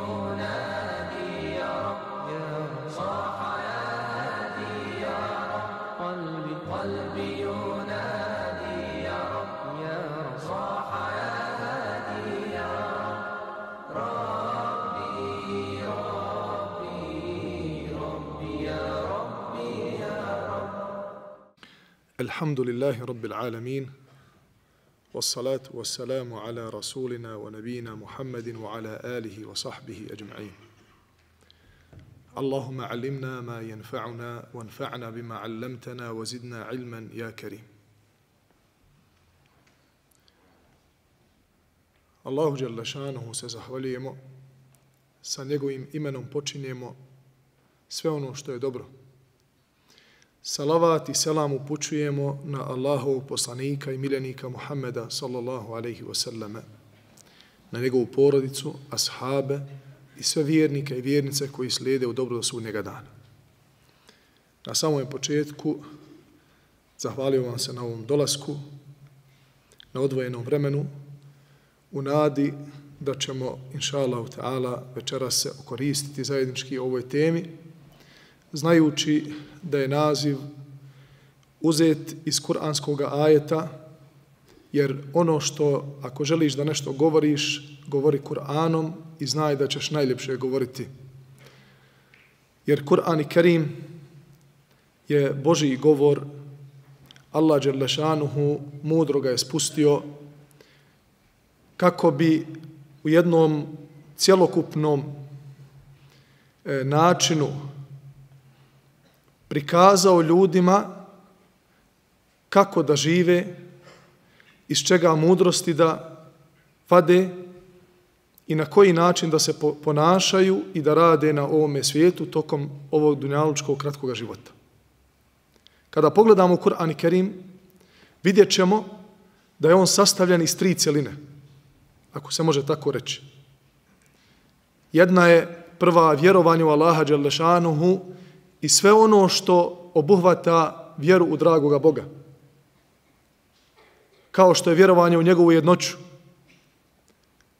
ينادي يا رب صاح يا هادي يا رب قلبي ينادي يا رب صاح يا هادي يا رب ربي يا ربي يا رب. الحمد لله رب العالمين والصلاة والسلام على رسولنا ونبينا محمد وعلى آله وصحبه أجمعين. اللهم علمنا ما ينفعنا وانفعنا بما علمتنا وزدنا علما يا كريم. Allahu dželle šanuhu se zahvaljujemo, sa njegovim imenom počinjemo sve ono što je dobro. Salavat i selam upućujemo na Allahovog poslanika i miljenika Muhammeda sallallahu alejhi ve selleme, na njegovu porodicu, ashabe i sve vjernike i vjernice koji slijede u dobro do sudnjega dana. Na samom početku zahvaljujem vam se na ovom dolasku, na odvojenom vremenu, u nadi da ćemo, inša Allahu ta'ala, večeras se okoristiti zajednički o ovoj temi, znajući da je naziv uzet iz kuranskog ajeta, jer ono što, ako želiš da nešto govoriš, govori Kur'anom i znaj da ćeš najljepše govoriti. Jer Kur'an i Kerim je Božji govor, Allah dželle šanuhu mudro ga je spustio kako bi u jednom cjelokupnom načinu prikazao ljudima kako da žive, iz čega mudrosti da vade i na koji način da se ponašaju i da rade na ovome svijetu tokom ovog dunjalučkog kratkog života. Kada pogledamo Kur'an i Kerim, vidjet ćemo da je on sastavljen iz 3 cjeline, ako se može tako reći. Jedna je prva vjerovanje u Allaha dželle šanuhu i sve ono što obuhvata vjeru u dragoga Boga. Kao što je vjerovanje u njegovu jednoću,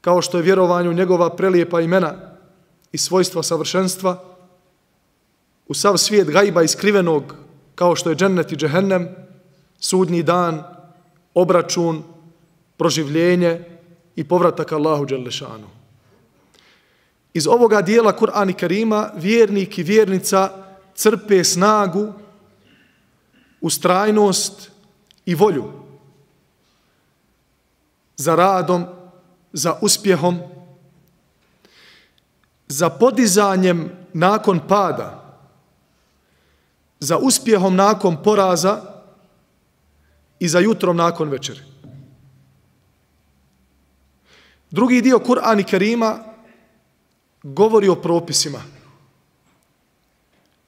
kao što je vjerovanje u njegova prelijepa imena i svojstva savršenstva, u sav svijet gajba iskrivenog, kao što je džennet i džehennem, sudnji dan, obračun, proživljenje i povratak Allahu dželle šanuhu. Iz ovoga dijela Kur'an i Kerima vjernik i vjernica crpe snagu, ustrajnost i volju za radom, za uspjehom, za podizanjem nakon pada, za uspjehom nakon poraza i za jutrom nakon večeri. Drugi dio Kur'an i Kerima govori o propisima.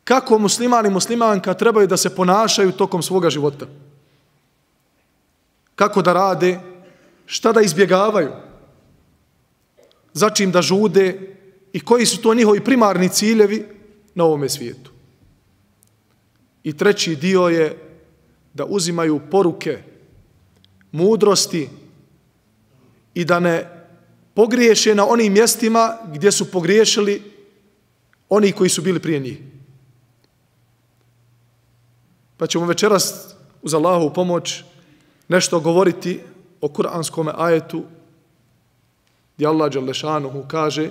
Kako musliman i muslimanka trebaju da se ponašaju tokom svoga života. Kako da rade, šta da izbjegavaju, za čim da žude i koji su to njihovi primarni ciljevi na ovome svijetu. I treći dio je da uzimaju poruke, mudrosti i da ne pogriješe na onim mjestima gdje su pogriješili oni koji su bili prije njih. Pa ćemo večeras uz Allahovu pomoć nešto govoriti o kuranskom ajetu gdje Allah dželle šanuhu kaže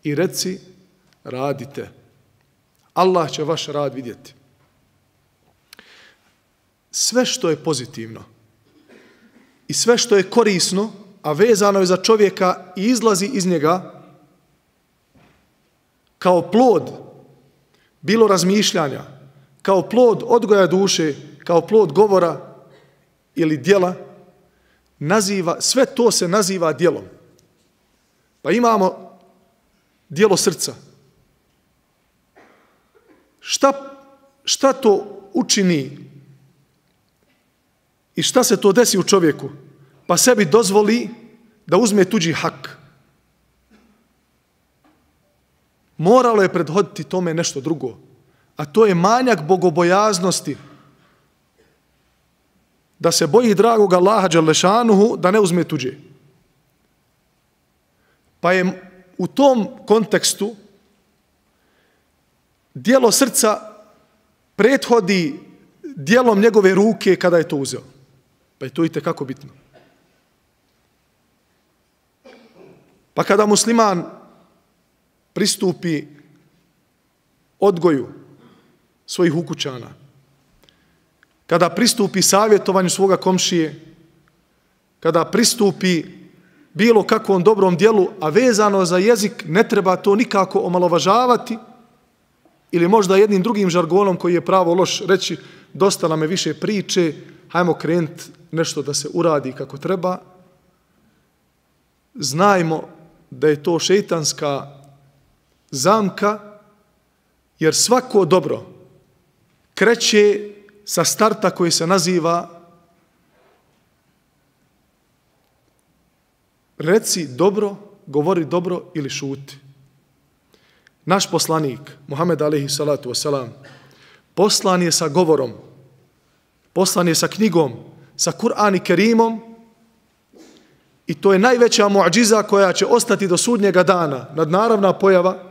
i reci radite. Allah će vaš rad vidjeti. Sve što je pozitivno i sve što je korisno, a vezano je za čovjeka i izlazi iz njega kao plod bilo razmišljanja, kao plod odgoja duše, kao plod govora ili djela, sve to se naziva djelom. Pa imamo djelo srca. Šta to učini i šta se to desi u čovjeku? Pa sebi dozvoli da uzme tuđi hak. Moralo je prethoditi tome nešto drugo, a to je manjak bogobojaznosti. Da se boji dragog Allaha dželle šanuhu da ne uzme tuđe. Pa je u tom kontekstu dijelo srca prethodi dijelom njegove ruke kada je to uzeo. Pa je to itekako bitno. Pa kada musliman pristupi odgoju svojih ukućana, kada pristupi savjetovanju svoga komšije, kada pristupi bilo kakvom dobrom dijelu, a vezano za jezik, ne treba to nikako omalovažavati ili možda jednim drugim žargonom koji je pravo loš reći dosta nam je više priče, hajmo krenuti nešto da se uradi kako treba. Znajmo da je to šejtanska zamka, jer svako dobro kreće sa starta koji se naziva reci dobro, govori dobro ili šuti. Naš poslanik, Muhammed alejhi salatu vesselam, poslan je sa govorom, poslan je sa knjigom, sa Kur'an i Kerimom, i to je najveća muadžiza koja će ostati do sudnjega dana, nadnaravna pojava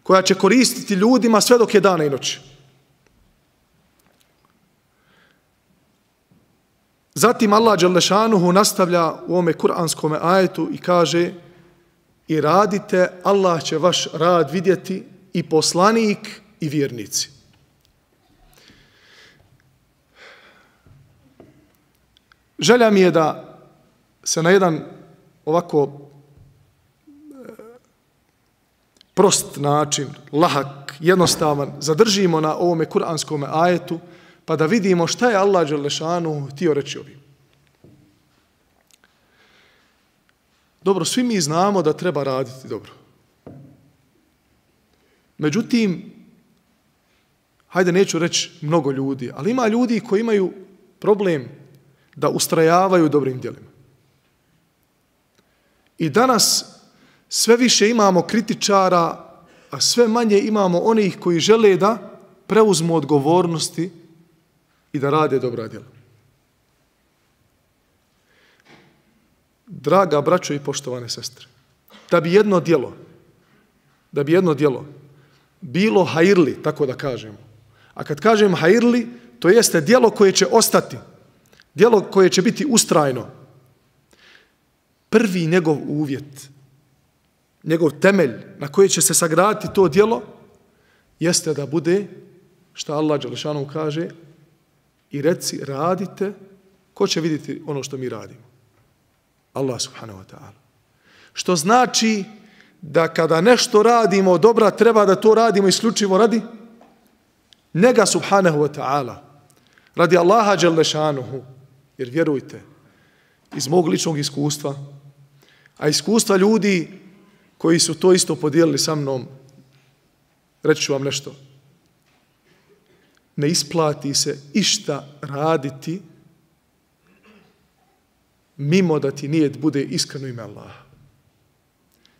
koja će koristiti ljudima sve dok je dana i noći. Zatim Allah dželle šanuhu nastavlja u ovome kuranskome ajetu i kaže: i radite, Allah će vaš rad vidjeti, i poslanik i vjernici. Želja mi je da se na jedan ovako prost način, lahak, jednostavan, zadržimo na ovome kuranskome ajetu, pa da vidimo šta je Allah dželle šanuhu htio reći ovim. Dobro, svi mi znamo da treba raditi dobro. Međutim, hajde neću reći mnogo ljudi, ali ima ljudi koji imaju problem da ustrajavaju dobrim djelima. I danas sve više imamo kritičara, a sve manje imamo onih koji žele da preuzmu odgovornosti i da rade dobra djela. Draga braćo i poštovane sestre, da bi jedno djelo bilo hajrli, tako da kažemo. A kad kažem hajrli, to jeste djelo koje će ostati, djelo koje će biti ustrajno. Prvi njegov uvjet, njegov temelj na koji će se sagraditi to djelo, jeste da bude, šta Allah dželle šanuhu kaže, i reci radite, ko će vidjeti ono što mi radimo? Allah subhanahu wa ta'ala. Što znači da kada nešto radimo dobra, treba da to radimo isključivo radi njega subhanahu wa ta'ala, radi Allaha dželle šanuhu. Jer vjerujte, iz mog ličnog iskustva, a iskustva ljudi koji su to isto podijelili sa mnom, reći ću vam nešto. Ne isplati se išta raditi mimo da ti nijet bude iskreno ime Allaha.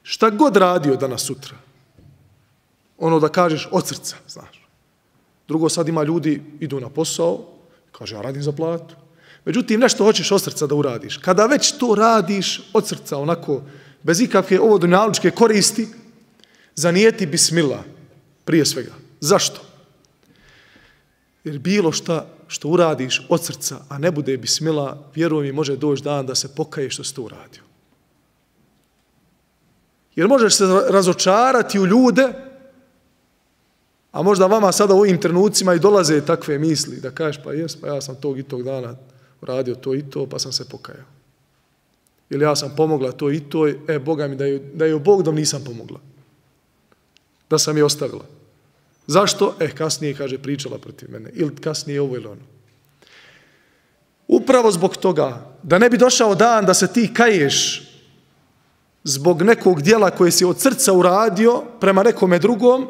Šta god radio danas sutra, ono da kažeš od srca, znaš. Drugo, sad ima ljudi, idu na posao, kaže ja radim za platu. Međutim, nešto hoćeš od srca da uradiš. Kada već to radiš od srca, onako, bez ikakve ovo dunjalučke koristi, zanijeti bismillah prije svega. Zašto? Jer bilo šta što uradiš od srca, a ne bude bismillah, vjeruj mi, može doći dan da se pokaje što si to uradio. Jer možeš se razočarati u ljude, a možda vama sada u ovim trenucima i dolaze takve misli, da kažeš pa jes, pa ja sam tog i tog dana uradio to i to, pa sam se pokajao. Ili ja sam pomogla to i to, Boga mi da je Bog dom nisam pomogla. Da sam je ostavila. Zašto? Kasnije, kaže, pričala protiv mene. Ili kasnije ovo ili ono. Upravo zbog toga, da ne bi došao dan da se ti kaješ zbog nekog dijela koje si od srca uradio prema nekome drugom,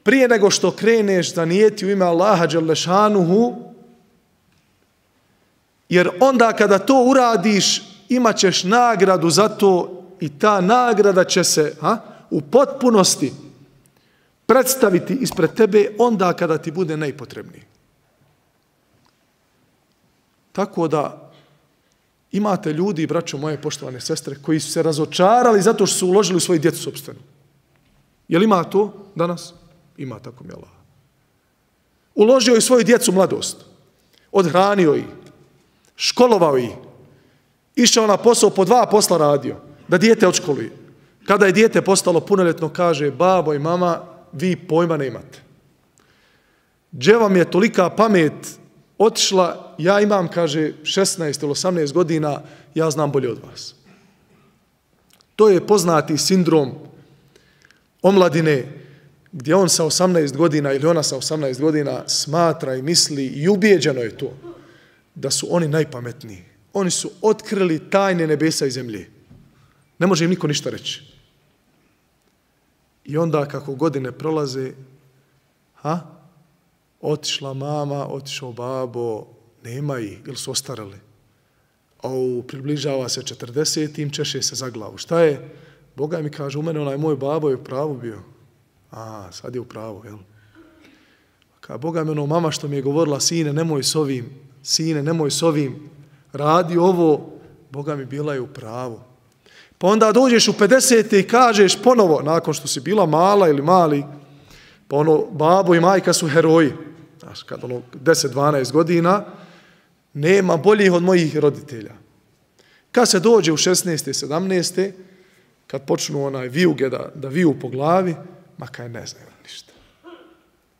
prije nego što kreneš zanijeti u ime Allaha dželle šanuhu, jer onda kada to uradiš imat ćeš nagradu za to i ta nagrada će se u potpunosti predstaviti ispred tebe onda kada ti bude najpotrebniji. Tako da Imate ljudi, braćo moje poštovane sestre, koji su se razočarali zato što su uložili u svoju djecu sopstvenu. Jel ima to danas? Ima, tako mi Allah. Uložio je svoju djecu mladost. Odhranio ih. Školovao ih. Išao na posao, po 2 posla radio. Da dijete odškoluje. Kada je dijete postalo punoljetno, kaže, babo i mama, vi pojma ne imate. Gdje vam je tolika pamet otišla, ja imam, kaže, 16 ili 18 godina, ja znam bolje od vas. To je poznati sindrom omladine, gdje on sa 18 godina ili ona sa 18 godina smatra i misli i ubijeđeno je to, da su oni najpametniji. Oni su otkrili tajne nebesa i zemlje. Ne može im niko ništa reći. I onda kako godine prolaze, otišla mama, otišao babo, nema ih, ili su ostarali. Približava se 40, im češe se za glavu. Šta je? Boga mi kaže, u mene onaj moj babo je u pravu bio. Sad je u pravu, jel? Kaže, Boga mi ono mama što mi je govorila, sine, nemoj s ovim, radi ovo, Boga mi bila je u pravu. Pa onda dođeš u 50. i kažeš ponovo, nakon što si bila mala ili mali, pa babo i majka su heroji. Znaš, kad 10-12 godina, nema boljih od mojih roditelja. Kad se dođe u 16. 17. kad počnu vijuge da viju po glavi, kaj ne znaju ništa.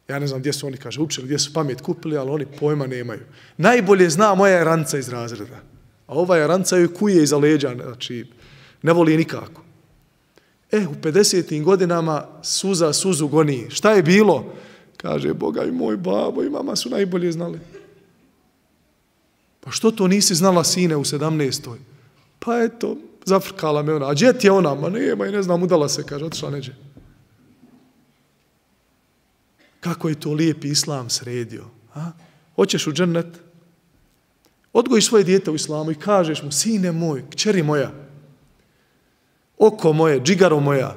Ja ne znam gdje su oni, kaže, učili, gdje su pamet kupili, ali oni pojma nemaju. Najbolje zna moja je ranca iz razreda. A ova je ranca joj kuje iza leđa, znači ne voli nikako. U 50. godinama suzu goni. Šta je bilo? Kaže, Boga i moj babo i mama su najbolje znali. Pa što to nisi znala, sine, u 17. Pa eto, zafrkala me ona. A gdje ti je ona? Ma nema i ne znam, udala se, kaže, otišla neđe. Kako je to lijepi islam sredio. Hoćeš u džennet? Odgojiš svoje dijete u islamu i kažeš mu, sine moj, kćeri moja, oko moje, džigaro moja,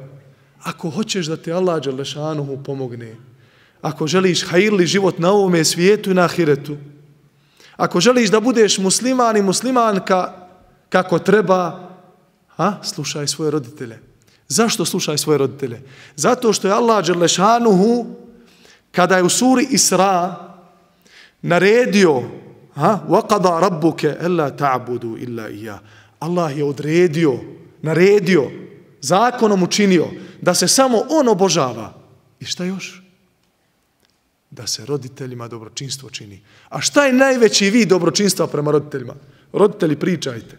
ako hoćeš da te Allah dželešanuhu pomogne, ako želiš hajirli život na ovome svijetu i na ahiretu, ako želiš da budeš musliman i muslimanka kako treba, slušaj svoje roditelje. Zašto slušaj svoje roditelje? Zato što je Allah dželešanuhu, kada je u suri Isra naredio, وَقَضَا رَبُّكَ أَلَّا تَعْبُدُوا إِلَّا إِيَّا, Allah je odredio, naredio, zakonom učinio da se samo on obožava. I šta još? Da se roditeljima dobročinstvo čini. A šta je najveći vid dobročinstva prema roditeljima? Roditelji, pričajte,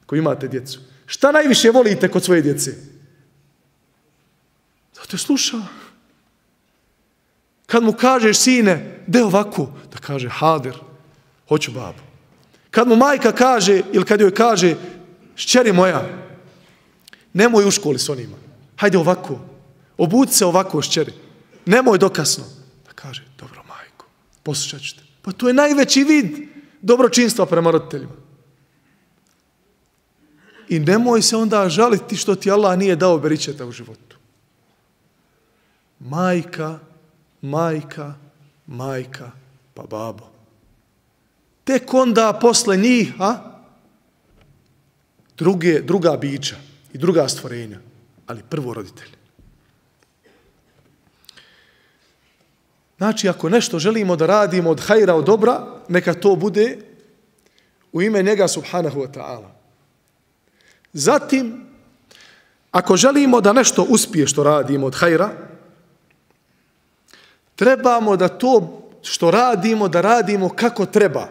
koji imate djecu. Šta najviše volite kod svoje djece? Zato je sluša. Kad mu kažeš, sine, de ovako, da kaže, hader, hoću babu. Kad mu majka kaže, ili kad joj kaže, šćeri moja, nemoj u školi s onima. Hajde ovako. Obuci se ovako, šćeri. Nemoj dokasno. Da kaže, dobro majko, poslušat ću te. Pa to je najveći vid dobročinstva prema roditeljima. I nemoj se onda žaliti što ti Allah nije dao beričeta u životu. Majka, pa babo. Tek onda posle njih, druga bića i druga stvorenja, ali prvo roditelj. Znači, ako nešto želimo da radimo od hajra, od dobra, neka to bude u ime njega subhanahu wa ta'ala. Zatim, ako želimo da nešto uspije što radimo od hajra, trebamo da to što radimo, da radimo kako treba.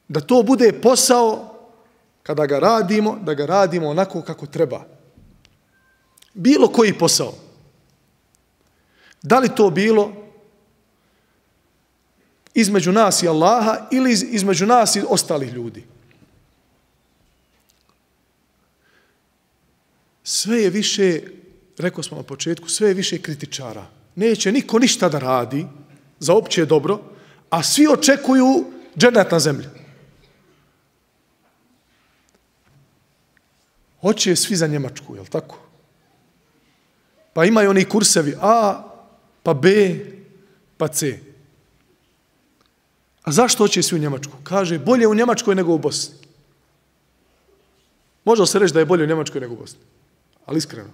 Da to bude posao, kada ga radimo, da ga radimo onako kako treba. Bilo koji posao. Da li to bilo između nas i Allaha ili između nas i ostalih ljudi. Sve je više, rekao smo na početku, sve je više kritičara. Neće niko ništa da radi za opće dobro, a svi očekuju džennet na zemlji. Hoće svi za Njemačku, jel tako? Pa imaju oni kursevi A, pa B, pa C. A zašto hoće svi u Njemačku? Kaže, bolje u Njemačkoj nego u Bosni. Može se reći da je bolje u Njemačkoj nego u Bosni? Ali iskreno.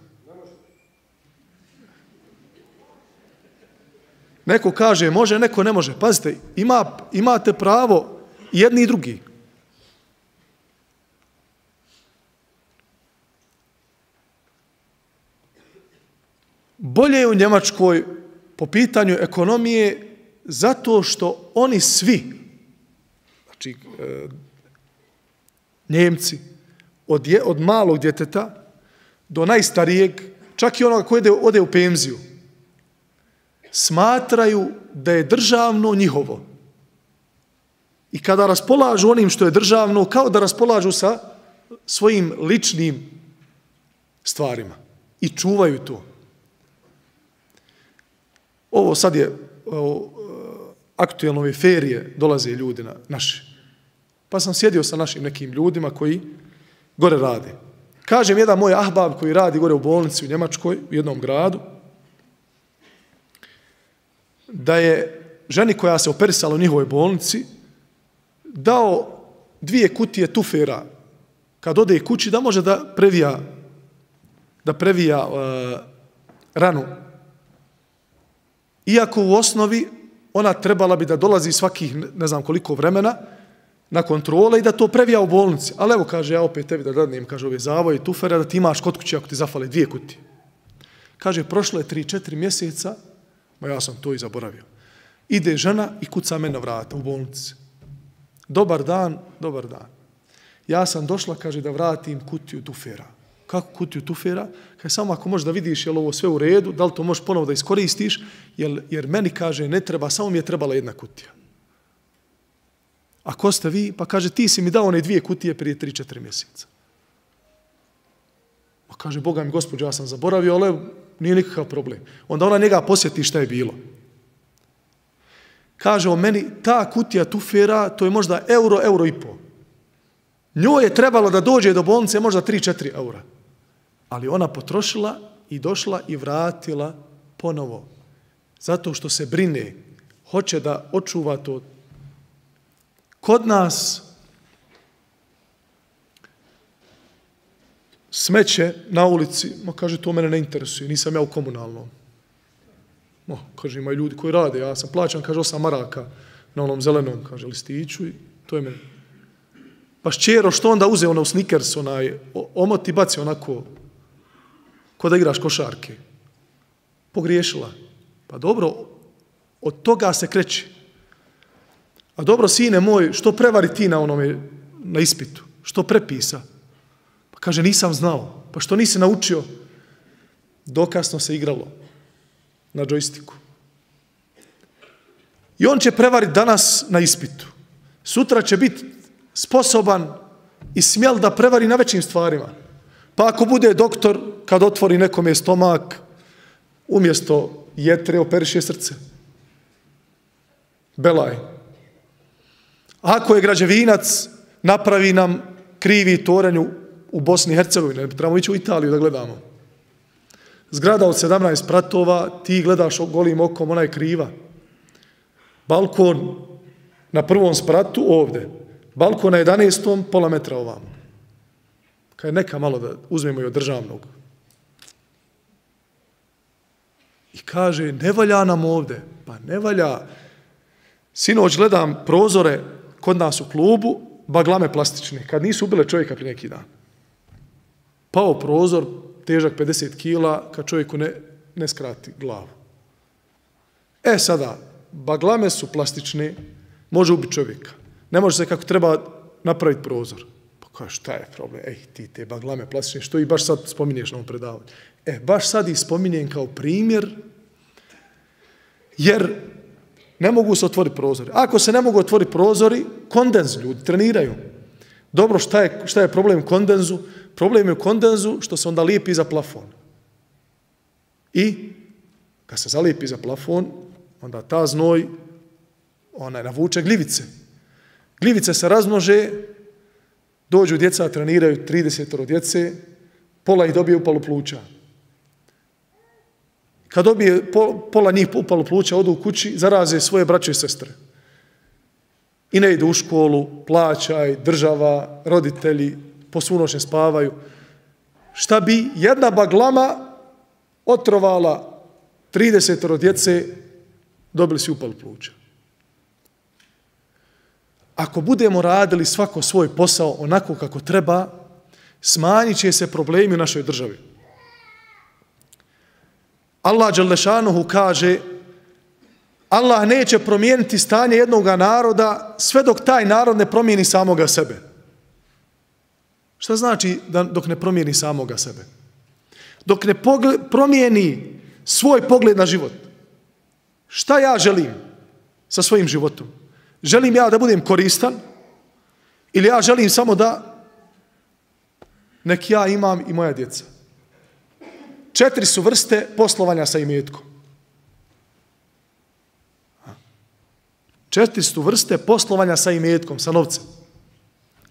Neko kaže može, neko ne može. Pazite, imate pravo jedni i drugi. Bolje je u Njemačkoj po pitanju ekonomije zato što oni svi, znači Njemci, od malog djeteta do najstarijeg, čak i onoga koji ode u penziju, smatraju da je državno njihovo. I kada raspolažu onim što je državno, kao da raspolažu sa svojim ličnim stvarima. I čuvaju to. Ovo sad je aktuelno ove ferije, dolaze ljudi naši. Pa sam sjedio sa našim nekim ljudima koji gore rade. Kažem, jedan moj ahbab koji radi gore u bolnici u Njemačkoj, u jednom gradu, da je ženi koja se operisala u njihovoj bolnici dao 2 kutije tufera kad ode kući da može da previja ranu. Iako u osnovi ona trebala bi da dolazi svakih ne znam koliko vremena na kontrole i da to previja u bolnici. Ali evo, kaže, ja opet tebi da dadnem, kaže, ove zavoje i tufere da ti imaš kod kuće ako ti zafale 2 kutije. Kaže, prošlo je 3-4 mjeseca, ma ja sam to i zaboravio. Ide žena i kuca me na vrata u bolnici. Dobar dan, dobar dan. Ja sam došla, kaže, da vratim kutiju tufera. Kako kutiju tufera? Kaže, samo ako možeš da vidiš je li ovo sve u redu, da li to možeš ponovo da iskoristiš, jer meni, kaže, ne treba, samo mi je trebala 1 kutija. A ko ste vi? Pa kaže, ti si mi dao one 2 kutije prije 3-4 mjeseca. Pa kaže, Boga mi gospođo, ja sam zaboravio, ali nije nikakav problem. Onda ona njega posjeti šta je bilo. Kaže o meni, ta kutija tufera, to je možda euro i pol. Njoj je trebalo da dođe do bolnice možda 3-4 eura. Ali ona potrošila i došla i vratila ponovo. Zato što se brine, hoće da očuva to. Kod nas smeće na ulici, ma kaže, to mene ne interesuje, nisam ja u komunalnom. Kaže, imaju ljudi koji rade, ja sam plaćan, kaže, 8 maraka na onom zelenom, kaže, listiću i to je meni. Pa šćero, što onda uze ono u Snickers, onaj omot i baci onako, ko da igraš košarke. Pogriješila. Pa dobro, od toga se kreće. A dobro, sine moj, što prevari ti na ispitu? Što prepisa? Pa kaže, nisam znao. Pa što nisi naučio? Dokasno se igralo na džojstiku. I on će prevariti danas na ispitu. Sutra će biti sposoban i smjel da prevari na većim stvarima. Pa ako bude doktor, kad otvori nekome stomak, umjesto jetre operiše srce. Belaj. Ako je građevinac, napravi nam krivi toranj u Bosni i Hercegovini, trebamo ići u Italiju da gledamo. Zgrada od 17 spratova, ti gledaš golim okom, ona je kriva. Balkon na 1. spratu ovde. Balkon na 11. pola metra ovamo. Kaj neka malo da uzmemo i od državnog. I kaže, ne valja nam ovde. Pa ne valja. Sinoć gledam prozore kod nas u klubu, baglame plastične, kad nisu ubile čovjeka prije neki dan. Pao prozor, težak 50 kila, kad čovjeku ne skrati glavu. Sada, baglame su plastične, može ubiti čovjeka. Ne može se kako treba napraviti prozor. Pa kaže, šta je problem? Ti te baglame plastične, što i baš sad spominješ na ovom predavanju? Baš sad ih spominjem kao primjer, jer ne mogu se otvoriti prozori. Ako se ne mogu otvoriti prozori, kondens, ljudi treniraju. Dobro, šta je problem u kondenzu? Problem je u kondenzu što se onda lijepi za plafon. I kad se zalijepi za plafon, onda ta znoj navuče gljivice. Gljivice se razmnože, dođu djeca, treniraju 30 djece, pola ih dobije upalu pluća. Kad dobije pola njih upalu pluća, odu u kući, zaraze svoje braće i sestre. i ne idu u školu, plaćaj, država, roditelji, posvunoćne spavaju. Šta bi jedna baglama otrovala 30 djece, dobili si upal pluća. Ako budemo radili svako svoj posao onako kako treba, smanjit će se problemi u našoj državi. Allah dželešanuhu kaže, Allah neće promijeniti stanje jednog naroda sve dok taj narod ne promijeni samoga sebe. Šta znači dok ne promijeni samoga sebe? Dok ne promijeni svoj pogled na život. Šta ja želim sa svojim životom? Želim ja da budem koristan ili ja želim samo da nek ja imam i moja djeca? 4 su vrste poslovanja sa imetkom. 4 su vrste poslovanja sa imetkom, sa novcem.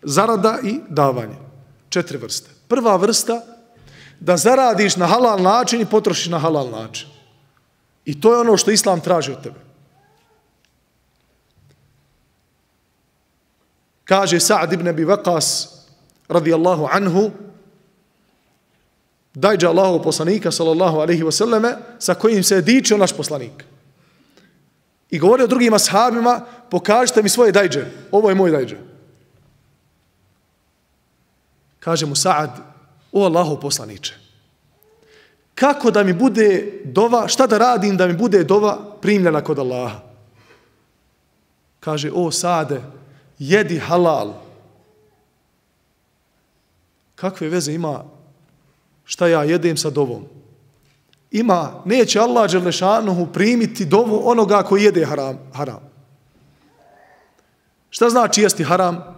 Zarada i davanje. 4 vrste. Prva vrsta, da zaradiš na halal način i potrošiš na halal način. I to je ono što Islam traži od tebe. Kaže Sa'd ibn Abi Waqas radijallahu anhu, dajđa Allahov poslanika sallallahu alaihi wasallame, sa kojim se je dičio naš poslanik. I govorio drugim ashabima, pokažite mi svoje dajđe. Ovo je moj dajđe. Kaže mu Sa'd, o Allahov poslaniče, kako da mi bude dova, šta da radim da mi bude dova primljena kod Allaha? Kaže, o Sa'de, jedi halal. Kakve veze ima šta ja jedem sa dovom? Ima, neće Allah dželešanuhu primiti dovu onoga koji jede haram. Šta znači jesti haram?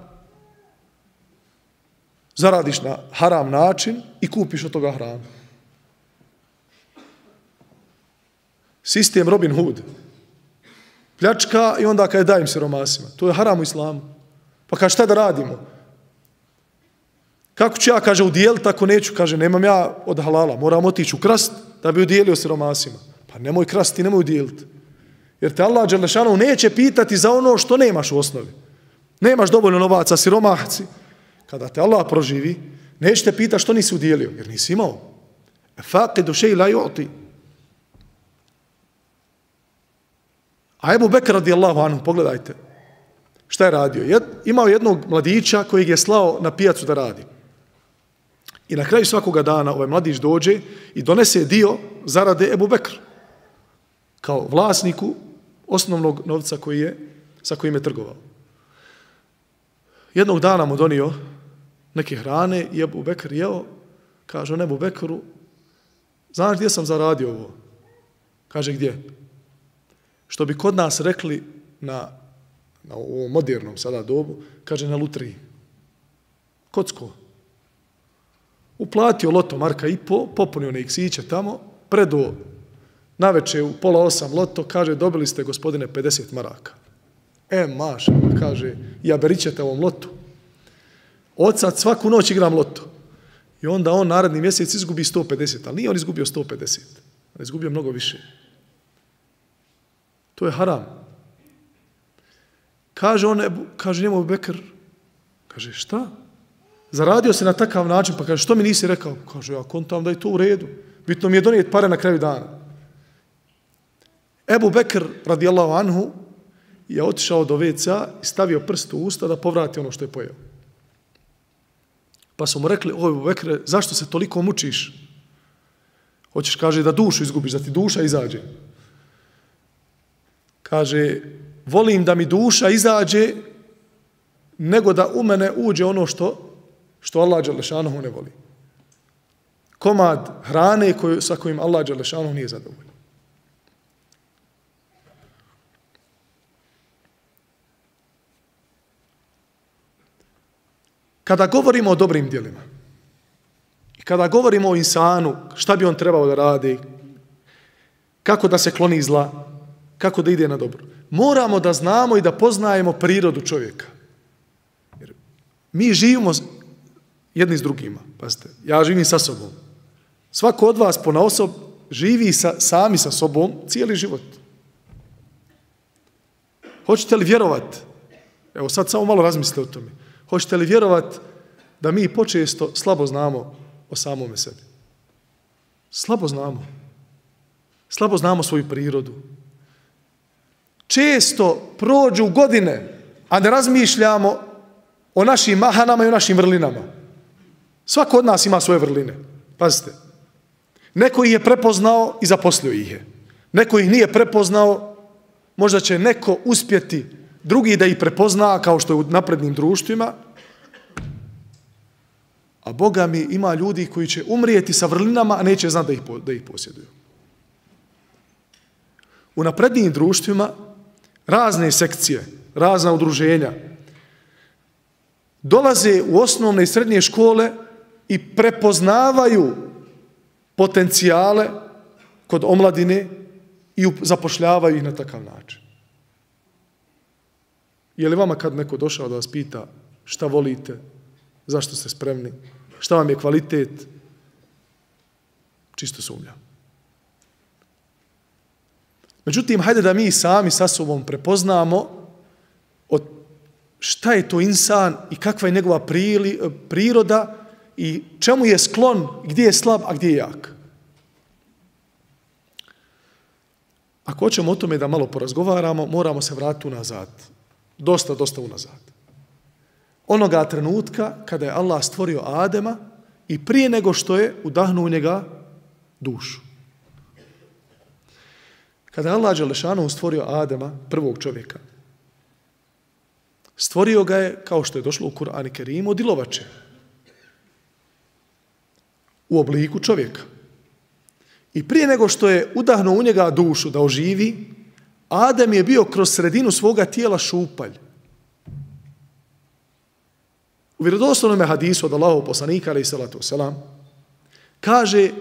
Zaradiš na haram način i kupiš od toga hranu. Sistem Robin Hood. Pljačka i onda kada dajem siromasima. To je haram u islamu. Pa kaže, šta da radimo? Kako ću ja, kaže, udijeliti ako neću? Kaže, nemam ja od halala. Moram otići u krast da bi udijelio siromasima. Pa nemoj krasti, nemoj udijeliti. Jer te Allah dželešanu neće pitati za ono što nemaš u osnovi. Nemaš dovoljno novaca, siromahci. Kada te Allah proživi, neće te pitati što nisi udijelio, jer nisi imao. Faqidu šej la yu'ti. A Ebu Bekr radijallahu anhu, pogledajte, šta je radio? Imao jednog mladića kojeg je slao na pijacu da radi. I na kraju svakoga dana ovaj mladić dođe i donese dio zarade Ebu Bekr, kao vlasniku osnovnog novca sa kojim je trgovao. Jednog dana mu donio neke hrane i Ebu Bekr jeo, kaže on Ebu Bekru, znaš gdje sam zaradio ovo? Kaže, gdje? Što bi kod nas rekli na ovom modernom sada dobu, kaže na lutriji. Kocko. Uplatio loto marka i popunio ne iksiće tamo, predo naveče u 7:30 loto, kaže, dobili ste, gospodine, 50 maraka. Maša, kaže, ja berićete ovom lotu. Odsad svaku noć igram loto. I onda on naredni mjesec izgubi 150, ali nije on izgubio 150. On izgubio mnogo više. To je haram. Kaže njemu Bekr, kaže, šta? Zaradio se na takav način, pa kaže, što mi nisi rekao? Kaže, ja kontam da je to u redu. Bitno mi je donijeti pare na kraju dana. Ebu Bekr, radijallahu anhu, je otišao do WC-a i stavio prst u usta da povrati ono što je pojeo. Pa su mu rekli, o Ebu Bekre, zašto se toliko mučiš? Hoćeš, kaže, da dušu izgubiš, da ti duša izađe. Kaže, volim da mi duša izađe nego da u mene uđe ono što Allah dželešanuhu ne voli. Komad hrane sa kojim Allah dželešanuhu nije zadovoljan. Kada govorimo o dobrim djelima i kada govorimo o insanu, šta bi on trebao da radi, kako da se kloni zla, kako da ide na dobro, moramo da znamo i da poznajemo prirodu čovjeka. Jer mi živimo jedni s drugima. Pazite, ja živim sa sobom. Svako od vas ponaosob živi sami sa sobom cijeli život. Hoćete li vjerovati Evo sad samo malo razmislite o tome. Hoćete li vjerovati da mi počesto slabo znamo o samome sebi? Slabo znamo. Slabo znamo svoju prirodu. Često prođu godine, a ne razmišljamo o našim mahanama i o našim vrlinama. Svako od nas ima svoje vrline. Pazite. Neko ih je prepoznao i zaposlio ih je. Neko ih nije prepoznao, možda će neko uspjeti drugi da ih prepozna, kao što je u naprednim društvima, a Boga mi ima ljudi koji će umrijeti sa vrlinama, a neće znati da ih posjeduju. U naprednim društvima razne sekcije, razna udruženja dolaze u osnovne i srednje škole i prepoznavaju potencijale kod omladine i zapošljavaju ih na takav način. Je li vama kad neko došao da vas pita šta volite, zašto ste spremni, šta vam je kvalitet, čisto sumnjam. Međutim, hajde da mi sami sa sobom prepoznamo šta je to insan i kakva je njegova priroda i čemu je sklon, gdje je slab, a gdje je jak. Ako hoćemo o tome da malo porazgovaramo, moramo se vratiti unazad. Dosta unazad. Onoga trenutka kada je Allah stvorio Adema i prije nego što je udahnuo u njega dušu. Kada je Allah dželešanu stvorio Adema, prvog čovjeka, stvorio ga je, kao što je došlo u Kur'anu Kerimu, od ilovače. U obliku čovjeka. I prije nego što je udahnuo u njega dušu da oživi, Adem je bio kroz sredinu svoga tijela šupalj. U vjerodostojnom hadisu od Allahovog poslanika, alejhi salatu vesselam, kaže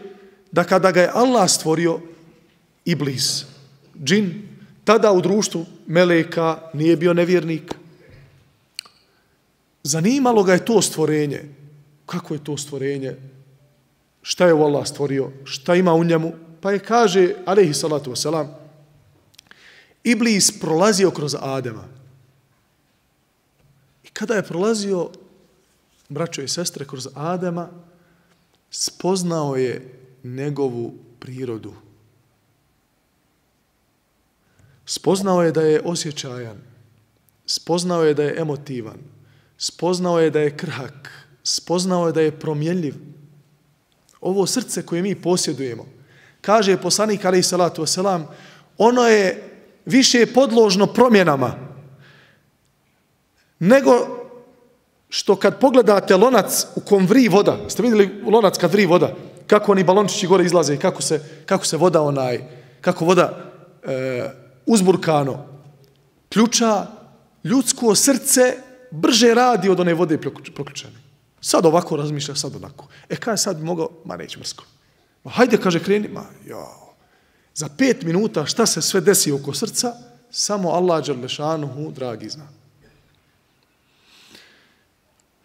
da kada ga je Allah stvorio, Iblis, džin, tada u društvu meleka, nije bio nevjernik. Zanimalo ga je to stvorenje. Kako je to stvorenje? Šta je Allah stvorio? Šta ima u njemu? Pa je kaže, alejhi salatu vesselam, Iblis prolazio kroz Adema. I kada je prolazio, braćo i sestre, kroz Adema, spoznao je njegovu prirodu. Spoznao je da je osjećajan. Spoznao je da je emotivan. Spoznao je da je krhak. Spoznao je da je promjenljiv. Ovo srce koje mi posjedujemo, kaže poslanik alejhi salatu vesselam, ono je više podložno promjenama nego što kad pogledate lonac u kom vri voda. Ste vidjeli lonac kad vri voda? Kako oni balončići gore izlaze i kako se voda kako voda uzburkano ključa. Ljudsko srce brže radi od one vode proključane. Sad ovako razmišlja, sad onako. Kada je sad mogao? Ma neće mrsko. Ma hajde, kaže, kreni. Ma jao. Za 5 minuta šta se sve desi oko srca, samo Allah dželešanuhu dragi zna.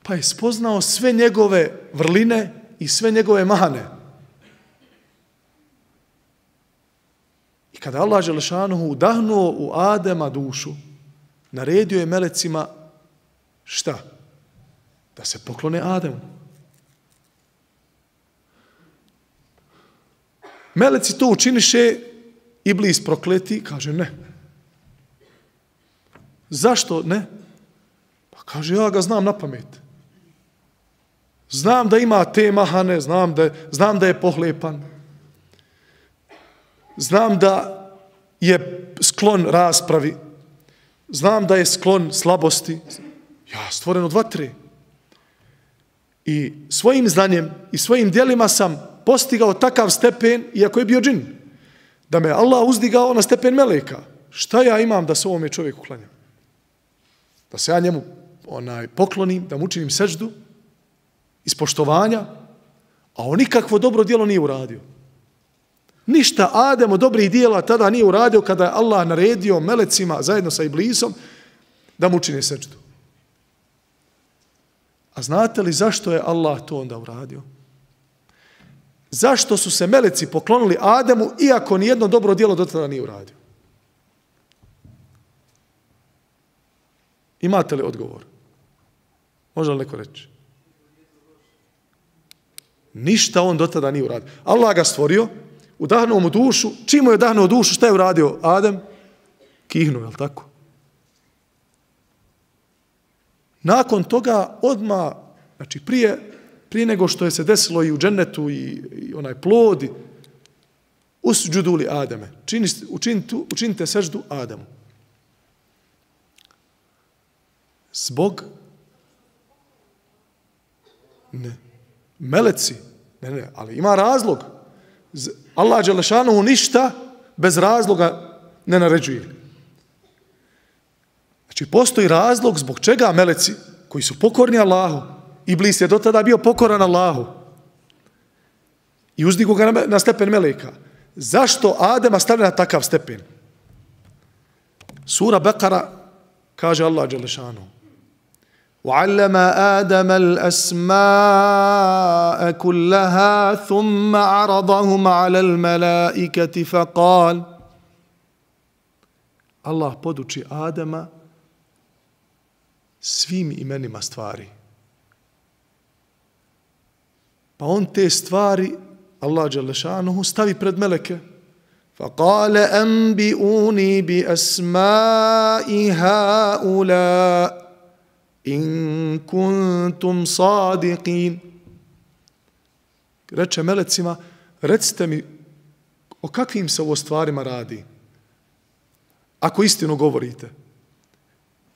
Pa je spoznao sve njegove vrline i sve njegove mahane. I kada Allah dželešanuhu udahnuo u Adema dušu, naredio je melecima šta? Da se poklone Ademu. Meleci to učiniše, Iblis prokleti, kaže ne. Zašto ne? Pa kaže, ja ga znam na pamet. Znam da ima te mahane, znam da je pohlepan. Znam da je sklon raspravi. Znam da je sklon slabosti. Ja stvoren od vatre. I svojim znanjem i svojim djelima sam postigao takav stepen, iako je bio džin, da me Allah uzdigao na stepen meleka. Šta ja imam da se ovome čovjeku klanjam? Da se ja njemu poklonim, da mu učinim seždu iz poštovanja, a on nikakvo dobro djelo nije uradio. Ništa Adem od dobrih djela tada nije uradio kada je Allah naredio melecima zajedno sa Iblisom da mu učine seždu. A znate li zašto je Allah to onda uradio? Zašto su se meleci poklonili Ademu, iako nijedno dobro djelo do tada nije uradio? Imate li odgovor? Može li neko reći? Ništa on do tada nije uradio. Allah ga stvorio, udahnuo mu dušu. Čim mu je udahnuo dušu, šta je uradio Adem? Kihnuo, je li tako? Nakon toga odmah, znači prije nego što je se desilo i u džennetu i onaj plod, usđudu li Ademe. Učinite seždu Ademu. Zbog meleci. Ne, ali ima razlog. Allah dželešanu ništa bez razloga ne naređuje. Znači, postoji razlog zbog čega meleci koji su pokorni Allahu, Iblis je do tada bio pokoran Allahu i uzdigu ga na stepen meleka. Zašto Adema stavlja na takav stepen? Sura Bekara kaže Allah dželešanu: وَعَلَّمَ آدَمَ الْأَسْمَاءَ كُلَّهَا ثُمَّ عَرَضَهُمْ عَلَى الْمَلَائِكَةِ فَقَالَ Allah poduči Adama svim imenima stvari. Pa on te stvari, Allah dželešanuhu, stavi pred meleke. فَقَالَ أَنْبِئُونِي بِأَسْمَاءِ هَؤُلَاءِ in kuntum sadiqin. Reče melecima, recite mi o kakvim se ovo stvarima radi. Ako istinu govorite.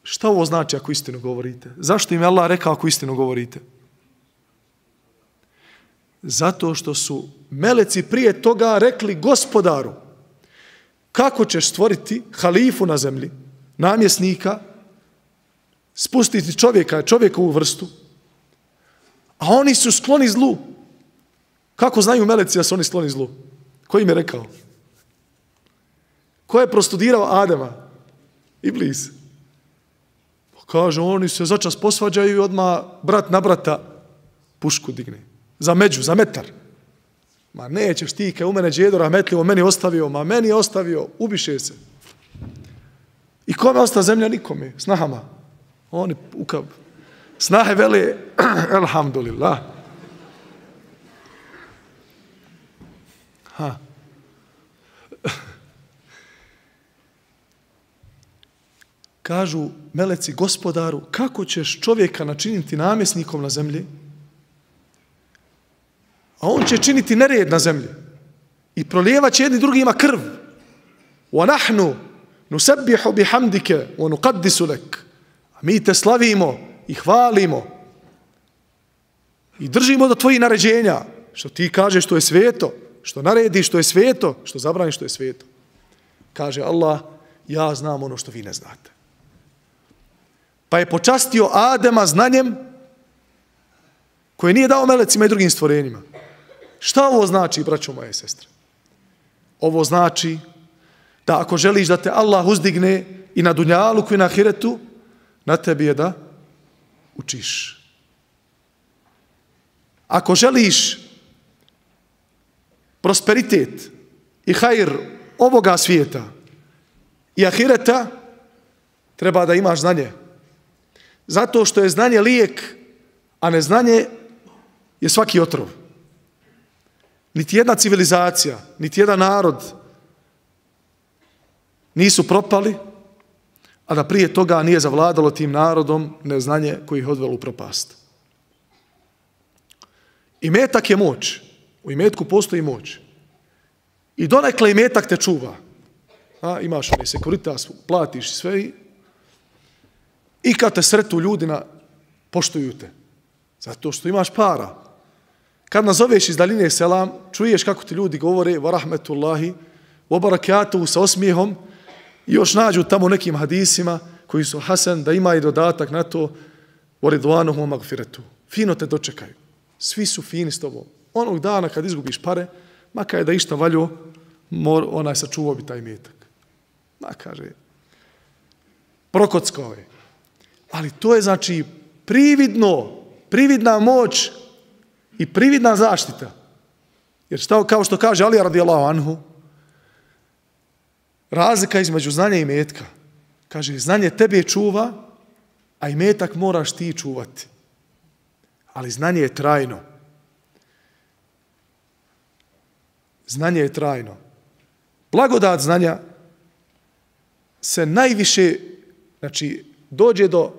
Šta ovo znači ako istinu govorite? Zašto im je Allah rekao ako istinu govorite? Zato što su meleci prije toga rekli Gospodaru, kako ćeš stvoriti halifu na zemlji, namjesnika, spustiti čovjekovu vrstu, a oni su skloni zlu. Kako znaju meleci da su oni skloni zlu? Ko im je rekao? Ko je prostudirao Adema? Iblis. Kaže, oni se začas posvađaju i odmah brat na brata pušku digne. Za među, za metar. Ma nećeš ti, kaj u mene džedo rahmetljivo, meni je ostavio, ubiše se. I kome osta zemlja? Nikome, snahama. Oni ukav. Snahe vele, elhamdulillah. Kažu meleci Gospodaru, kako ćeš čovjeka načiniti namjesnikom na zemlji, a on će činiti nered na zemlji i prolijevat će jedni drugima krv. وَنَحْنُ نُسَبِّحُ بِحَمْدِكَ وَنُقَدِّسُ لَكَ. A mi te slavimo i hvalimo i držimo do tvojih naređenja, što ti kažeš što je sveto, što narediš što je sveto, što zabraniš što je sveto. Kaže Allah, ja znam ono što vi ne znate. Pa je počastio Adema znanjem koje nije dao melecima i drugim stvorenjima. Šta ovo znači, braćo moje sestre? Ovo znači da ako želiš da te Allah uzdigne i na dunjaluku i na ahiretu, na tebi je da učiš. Ako želiš prosperitet i hajr ovoga svijeta i ahireta, treba da imaš znanje. Zato što je znanje lijek, a neznanje je svaki otrov. Niti jedna civilizacija, niti jedan narod nisu propali, a da prije toga nije zavladalo tim narodom neznanje koji ih odvelo u propast. Imetak je moć. U imetku postoji moć. I donekle imetak te čuva. Imaš onaj sekuritas, platiš sve i kad te sretu ljudina, poštuju te. Zato što imaš para. Kad nazoveš iz daljine selam, čuješ kako ti ljudi govore wa rahmetullahi, wa barakatuhu sa osmijehom i još nađu tamo nekim hadisima koji su hasan, da ima i dodatak na to wa ridvanuhu wa magfiretu. Fino te dočekaju. Svi su fini s tobom. Onog dana kad izgubiš pare, makar je da išta valjo, onaj sačuvao bi taj imetak. Kaže, prokockao je. Ali to je znači prividna moć i prividna zaštita. Jer kao što kaže Ali radijallahu anhu, razlika između znanja i imetka. Kaže, znanje tebe čuva, a imetak moraš ti čuvati. Ali znanje je trajno. Znanje je trajno. Blagodat znanja se najviše, znači, dođe do,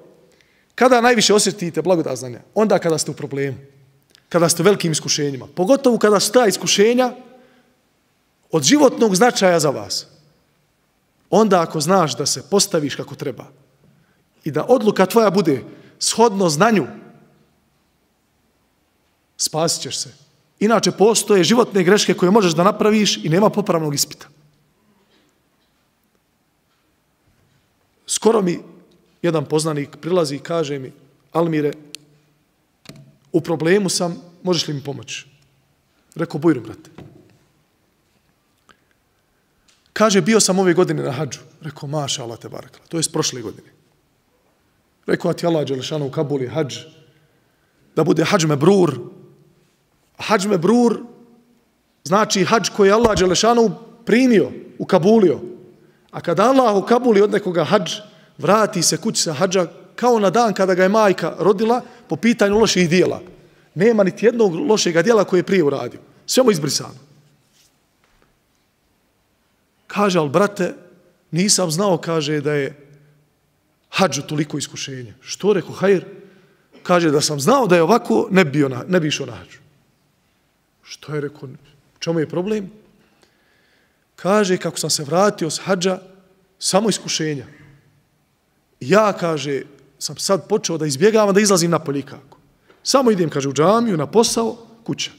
kada najviše osjetite blagodat znanja? Onda kada ste u problemu, kada ste u velikim iskušenjima. Pogotovo kada su ta iskušenja od životnog značaja za vas. Onda ako znaš da se postaviš kako treba i da odluka tvoja bude shodno znanju, spasit ćeš se. Inače postoje životne greške koje možeš da napraviš i nema popravnog ispita. Skoro mi jedan poznanik prilazi i kaže mi: Almire, u problemu sam, možeš li mi pomoći? Rekao: bujrum, brate. Kaže: bio sam ove godine na hadžu. Rekao: maša Allah te barakala. To je s prošle godine. Rekao: a ti Allah dželešanu u Kabuli hadž, da bude hadž mebrur. Hadž mebrur znači hadž koji je Allah dželešanu primio, ukabulio. A kada Allah ukabuli od nekoga hadž, vrati se kući sa hadža kao na dan kada ga je majka rodila po pitanju loših dijela. Nema niti jednog lošeg dijela koje je prije uradio. Sve mu izbrisano. Kaže: ali brate, nisam znao, kaže, da je hadžu toliko iskušenje. Što? Rekao: hajr. Kaže: da sam znao da je ovako, ne bi išao na hadžu. Što je? Rekao: čemu je problem? Kaže: kako sam se vratio s hadža, samo iskušenja. Ja, kaže, sam sad počeo da izbjegavam, da izlazim napolje kako. Samo idem, kaže, u džamiju, na posao, kuća.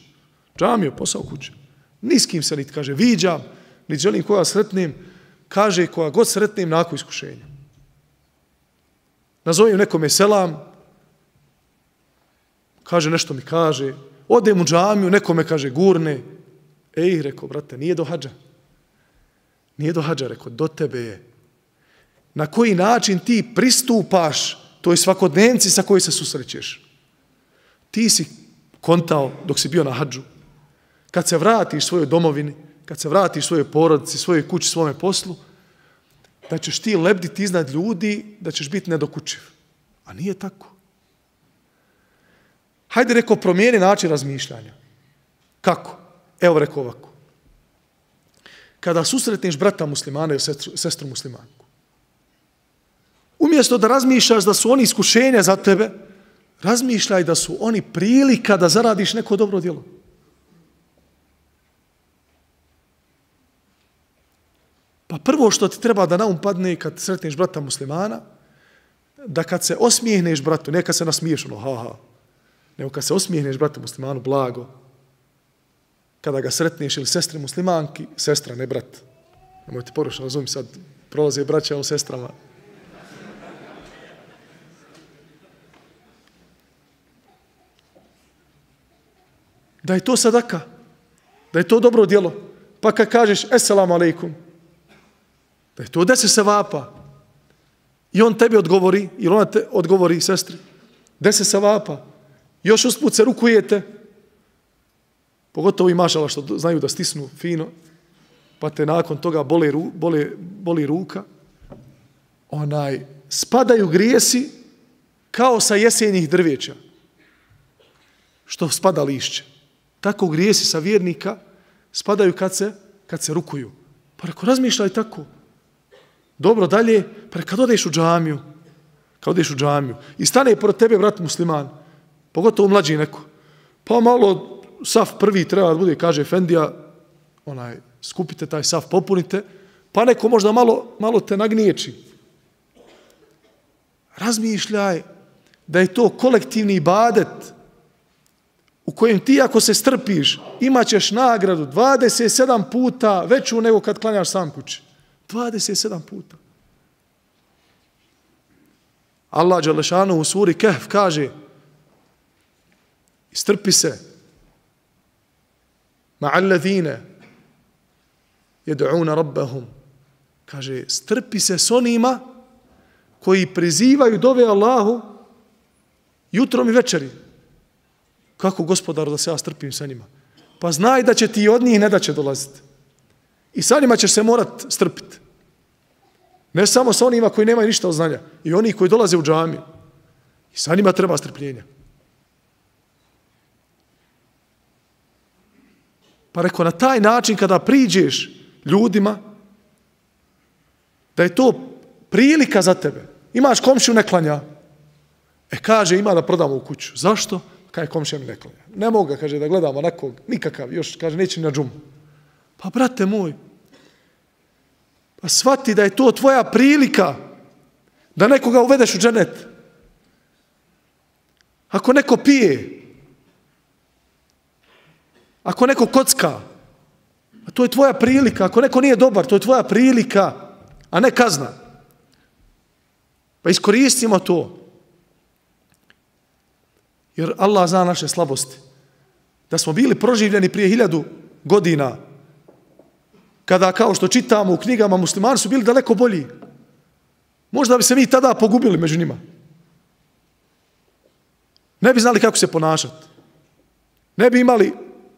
Džamiju, posao, kuća. Ni s kim se niti, kaže, viđam, niti želim koga sretnem. Kaže: koja god sretnem, nakon iskušenja. Nazovem nekome selam, kaže, nešto mi kaže. Odem u džamiju, nekome, kaže, gurne. Ej, rekao: brate, nije do hadža. Nije do hadža, rekao, do tebe je. Na koji način ti pristupaš toj svakodnevnici sa kojoj se susrećeš. Ti si kontao dok si bio na hadžu. Kad se vratiš svojoj domovini, kad se vratiš svojoj porodici, svojoj kući, svome poslu, da ćeš ti lebditi iznad ljudi, da ćeš biti nedokučiv. A nije tako. Hajde, rekao, promijeni način razmišljanja. Kako? Evo, rekao ovako. Kada susretneš brata muslimana ili sestru muslimanku, umjesto da razmišljaš da su oni iskušenja za tebe, razmišljaj da su oni prilika da zaradiš neko dobro djelo. Pa prvo što ti treba da na um padne kad sretneš brata muslimana, da kad se osmijehneš bratu, ne kad se nasmiješ, ha, nego kad se osmijehneš bratu muslimanu blago, kada ga sretneš, ili sestri muslimanki, sestra, ne brat. Nemojte pogrešno razumjeti, sad prolaze braća o sestrama. Da je to sadaka, da je to dobro djelo. Pa kad kažeš Esselamu alaikum, da je to 10 sevapa. I on tebi odgovori, ili ona te odgovori sestri, 10 sevapa. Još usput se rukujete, pogotovo i mašala što znaju da stisnu fino, pa te nakon toga boli ruka. Spadaju grijesi kao sa jesenjih drveća, što spada lišće. Tako grijesi sa vjernika spadaju kad se rukuju. Pa reko, razmišljaj tako. Dobro, dalje, pa kad odeš u džamiju, i stane pored tebe brat musliman, pogotovo mlađi neko, pa malo saf prvi treba da bude, kaže efendija, skupite taj saf, popunite, pa neko možda malo te nagniječi. Razmišljaj da je to kolektivni ibadet u kojem ti ako se strpiš imat ćeš nagradu 27 puta veću nego kad klanjaš sam kući. 27 puta. Allah dželešanu u suri Kehf kaže: strpi se ma'alladhine yad'una rabbahum, kaže strpi se s onima koji prizivaju dove Allahu jutrom i večeri. Kako, gospodaru, da se ja strpim sa njima? Pa znaj da će ti od njih ne da će dolaziti. I sa njima ćeš se morat strpiti. Ne samo sa onima koji nemaju ništa od znanja. I oni koji dolaze u džamiju. I sa njima treba strpljenja. Pa rekao, na taj način kada priđeš ljudima, da je to prilika za tebe. Imaš komšiju ne klanja. Kaže, ima da prodamo u kuću. Zašto? Kaže, komšija mi ne klanja. Ne mogu ga, kaže, da gledamo onakvog, nikakav, još, kaže, neće ni na džumu. Pa, brate moj, pa shvati da je to tvoja prilika da nekoga uvedeš u dženet. Ako neko pije, ako neko kocka, a to je tvoja prilika. Ako neko nije dobar, to je tvoja prilika, a ne kazna. Pa iskoristimo to. Jer Allah zna naše slabosti. Da smo bili proživljeni prije 1000 godina, kada, kao što čitamo u knjigama, muslimani su bili daleko bolji. Možda bi se mi tada pogubili među njima. Ne bi znali kako se ponašati. Ne bi imali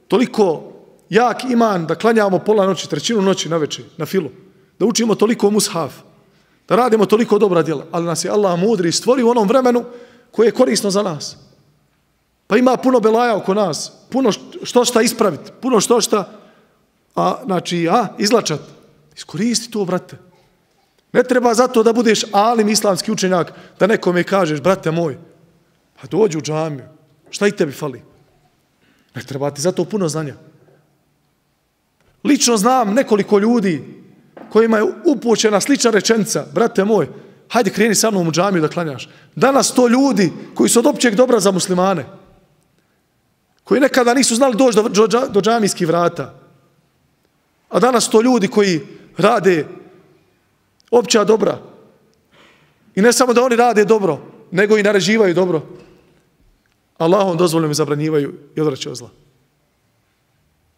toliko jak iman da klanjamo pola noći, trećinu noći na večer, na filu. Da učimo toliko mushaf. Da radimo toliko dobra djela. Ali nas je Allah mudri stvorio u onom vremenu koje je korisno za nas. Pa ima puno belaja oko nas. Puno što šta ispraviti. Puno što šta izlačat. Iskoristi to, brate. Ne treba zato da budeš alim islamski učenjak, da nekome kažeš, brate moj, pa dođi u džamiju. Šta i tebi fali? Ne treba ti zato puno znanja. Lično znam nekoliko ljudi kojima je upućena slična rečenica, brate moj, hajde kreni sa mnom u džamiju da klanjaš. Danas to ljudi koji su od općeg dobra za muslimane, koji nekada nisu znali doći do džamijskih vrata, a danas to ljudi koji rade opća dobra. I ne samo da oni rade dobro, nego i naređivaju dobro. Allahom dozvoljeno mi zabranjivaju i odvraćaju od zla.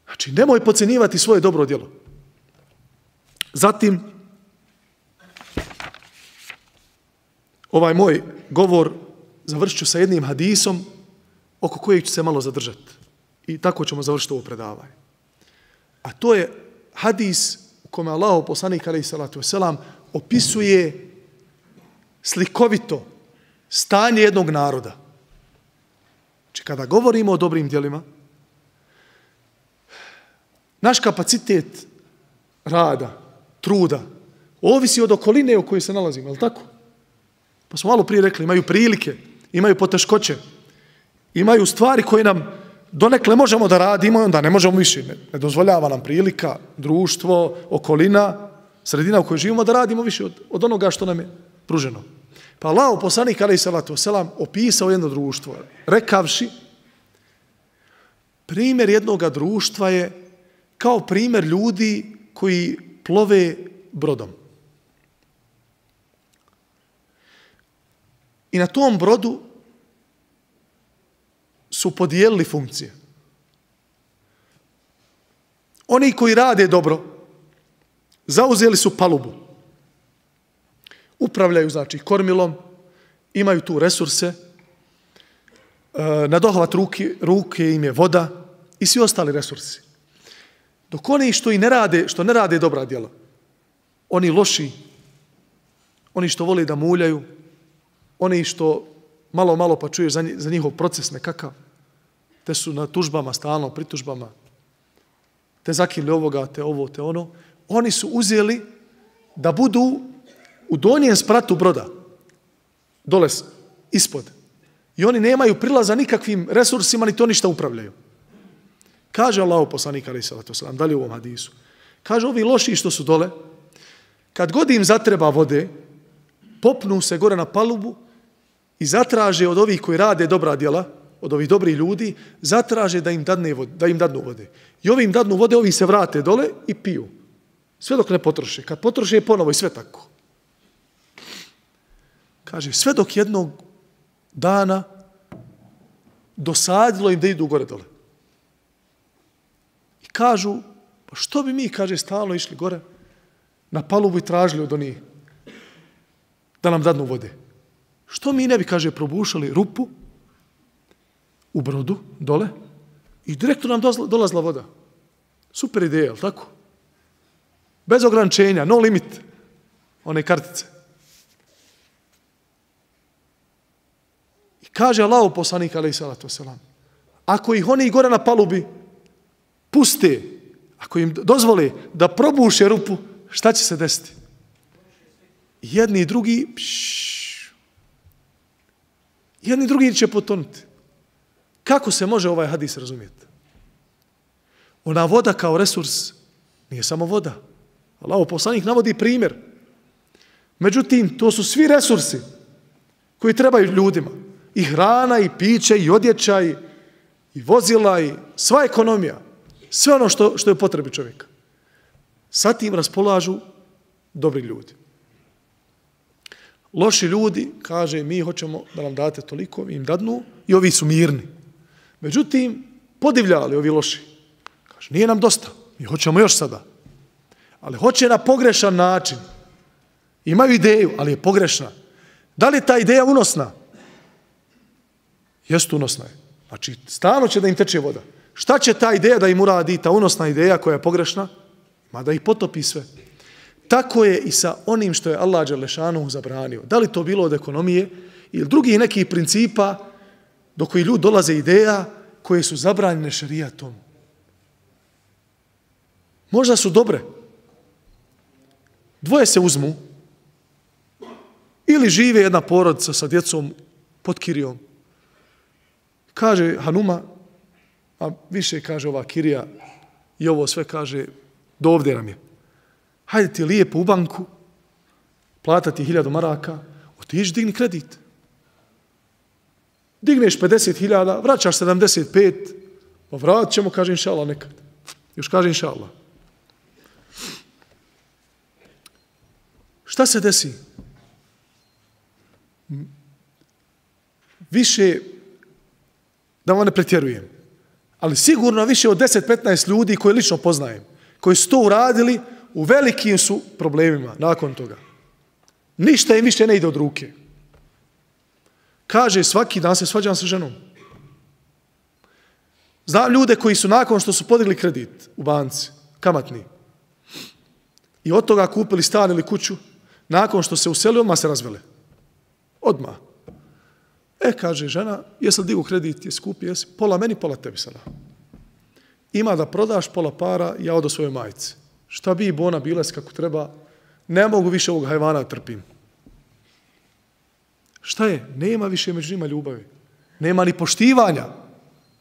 Znači, nemoj podcjenjivati svoje dobro djelo. Zatim, ovaj moj govor završit ću sa jednim hadisom oko kojeg ću se malo zadržati. I tako ćemo završiti ovo predavanje. A to je hadis u kome Allahov poslanik alejhi salatu vesselam opisuje slikovito stanje jednog naroda. Znači, kada govorimo o dobrim djelima, naš kapacitet rada, truda, ovisi od okoline u kojoj se nalazimo, je li tako? Pa smo malo prije rekli, imaju prilike, imaju poteškoće, imaju stvari koje nam donekle možemo da radimo i onda ne možemo više. Ne dozvoljava nam prilika, društvo, okolina, sredina u kojoj živimo da radimo više od onoga što nam je pruženo. Pa Allahov poslanik alejhi salatu vesselam opisao jedno društvo, rekavši, primjer jednoga društva je kao primjer ljudi koji plove brodom. I na tom brodu su podijelili funkcije. Oni koji rade dobro, zauzeli su palubu. Upravljaju, znači, kormilom, imaju tu resurse, na dohvat ruke im je voda i svi ostali resursi. Dok oni što ne rade dobra djela, oni loši, oni što vole da muljaju, oni što malo pa čuješ za njihov proces nekakav, te su na tužbama, stalno pritužbama, te zakinuli ovoga, te ovo, te ono, oni su uzeli da budu u donjem spratu broda, dole ispod. I oni nemaju prilaza nikakvim resursima, ni to ništa upravljaju. Kaže Allahov poslanik alejhi salatu vesselam, dalje u ovom hadisu. Kaže, ovi loši što su dole, kad god im zatreba vode, popnu se gore na palubu i zatraže od ovih koji rade dobra djela, od ovih dobrih ljudi, zatraže da im dadnu vode. I ovi im dadnu vode, ovi se vrate dole i piju. Sve dok ne potroše. Kad potroše ponovo i sve tako. Kaže, sve dok jednog dana dosadilo im da idu gore dole. I kažu, pa što bi mi, kaže, stalno išli gore na palubu i tražili od onih da nam dadnu vode. Što mi ne bi, kaže, probušali rupu u brodu dole i direktno nam dolazla voda. Super ideja, je li tako? Bez ograničenja, no limit, one kartice. Kaže Allahov poslanik alejhi salatu vesselam, ako ih oni gore na palubi puste, ako im dozvole da probuše rupu, šta će se desiti? Jedni i drugi, jedni i drugi će potonuti. Kako se može ovaj hadis razumjeti? Ona voda kao resurs nije samo voda. Allahov poslanik navodi primjer. Međutim, to su svi resursi koji trebaju ljudima. I hrana, i piće, i odjeća, i vozila, i sva ekonomija. Sve ono što je potrebi čovjeka. Sa tim raspolažu dobri ljudi. Loši ljudi, kaže, mi hoćemo da nam date toliko, im dadnu, i ovi su mirni. Međutim, podivljali ovi loši. Kaže, nije nam dosta, mi hoćemo još sada. Ali hoće na pogrešan način. Imaju ideju, ali je pogrešna. Da li je ta ideja unosna? Jeste, unosna je. Znači, stalno će da im teče voda. Šta će ta ideja da im uradi, ta unosna ideja koja je pogrešna? Ma da ih potopi sve. Tako je i sa onim što je Allah dželešanu zabranio. Da li to bilo od ekonomije ili drugih nekih principa do kojih ljudi dolaze ideja koje su zabranjene šerijatom. Možda su dobre. Dvoje se uzmu ili žive jedna porodica sa djecom pod kirijom. Kaže Hanuma, a više kaže ova kirija i ovo sve kaže, do ovdje nam je. Hajde ti lijepo u banku, platati 1000 maraka, otići digni kredit. Digneš 50.000, vraćaš 75, pa vratit ćemo, kaže inša Allah nekad. Još kaže inša Allah. Šta se desi? Više, da vam ne pretjerujem, ali sigurno više od 10-15 ljudi koje lično poznajem, koji su to uradili, u velikim su problemima nakon toga. Ništa im više ne ide od ruke. Kaže, svaki dan se svađam sa ženom. Znam ljude koji su nakon što su podigli kredit u banci, kamatni, i od toga kupili stan ili kuću, nakon što se uselio, odmah se razvele. Odmah. Kaže žena, jesi li digu kredit, jesi kupi, jesi, pola meni, pola tebi sada. Ima da prodaš pola para, ja odo svojoj majici. Šta bi bona bila kako treba, ne mogu više ovog hajvana trpim. Šta je? Nema više među njima ljubavi. Nema ni poštivanja.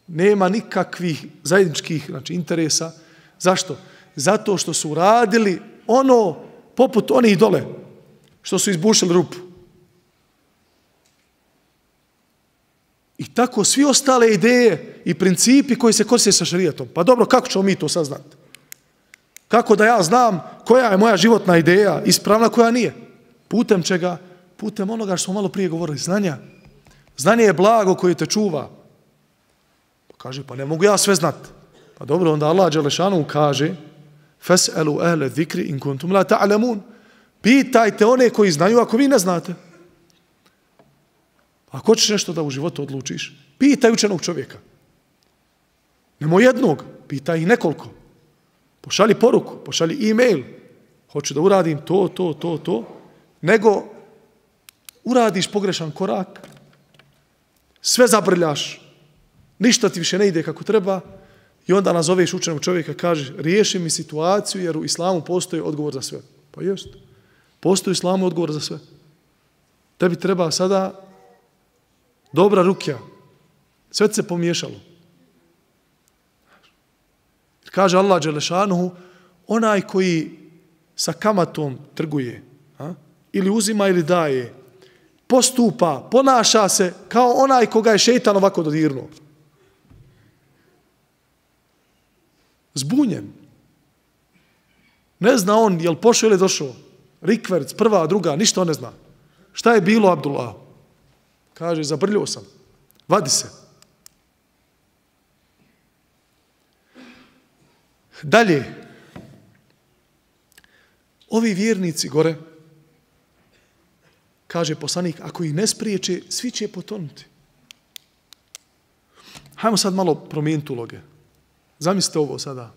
Nema nikakvih zajedničkih interesa. Zašto? Zato što su uradili ono poput onih dole, što su izbušili rupu. I tako svi ostale ideje i principi koji se koriste sa šerijatom. Pa dobro, kako ćemo mi to saznati? Kako da ja znam koja je moja životna ideja, ispravna, koja nije? Putem čega? Putem onoga što smo malo prije govorili, znanja. Znanje je blago koje te čuva. Pa kaže, pa ne mogu ja sve znati. Pa dobro, onda Allah dželešanu kaže, Fas'alu ahle zikri in kuntum la ta'lamun. Pitajte one koji znaju ako vi ne znate. Ako hoćeš nešto da u životu odlučiš, pitaj učenog čovjeka. Nemoj jednog, pitaj ih nekoliko. Pošalji poruku, pošalji e-mail. Hoću da uradim to. Nego uradiš pogrešan korak, sve zabrljaš, ništa ti više ne ide kako treba i onda nazoveš učenog čovjeka, kažeš, riješi mi situaciju jer u islamu postoji odgovor za sve. Pa jest. Postoji u islamu odgovor za sve. Tebi treba sada dobra rukja. Sve se pomiješalo. Kaže Allah dželešanuhu, onaj koji sa kamatom trguje, ili uzima ili daje, postupa, ponaša se kao onaj koga je šejtan ovako dodirnuo. Zbunjen. Ne zna on je li pošao ili došao. Rikverc, prva, druga, ništa on ne zna. Šta je bilo Abdullah? Kaže, zabrljio sam. Vadi se. Dalje. Ovi vjernici gore, kaže poslanik, ako ih ne spriječe, svi će potonuti. Hajmo sad malo promijeniti uloge. Zamislite ovo sada.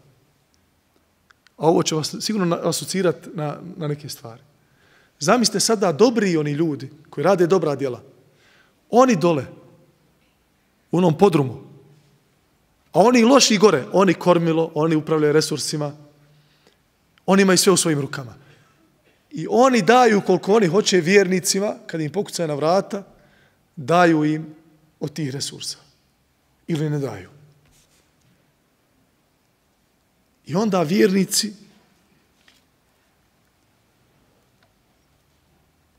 A ovo će vas sigurno asocirati na neke stvari. Zamislite sada dobri oni ljudi koji rade dobra djela. Oni dole u onom podrumu. A oni loši gore, oni kormilo, oni upravljaju resursima, oni imaju sve u svojim rukama. I oni daju koliko oni hoće vjernicima, kad im pokucaju na vrata, daju im od tih resursa. Ili ne daju. I onda vjernici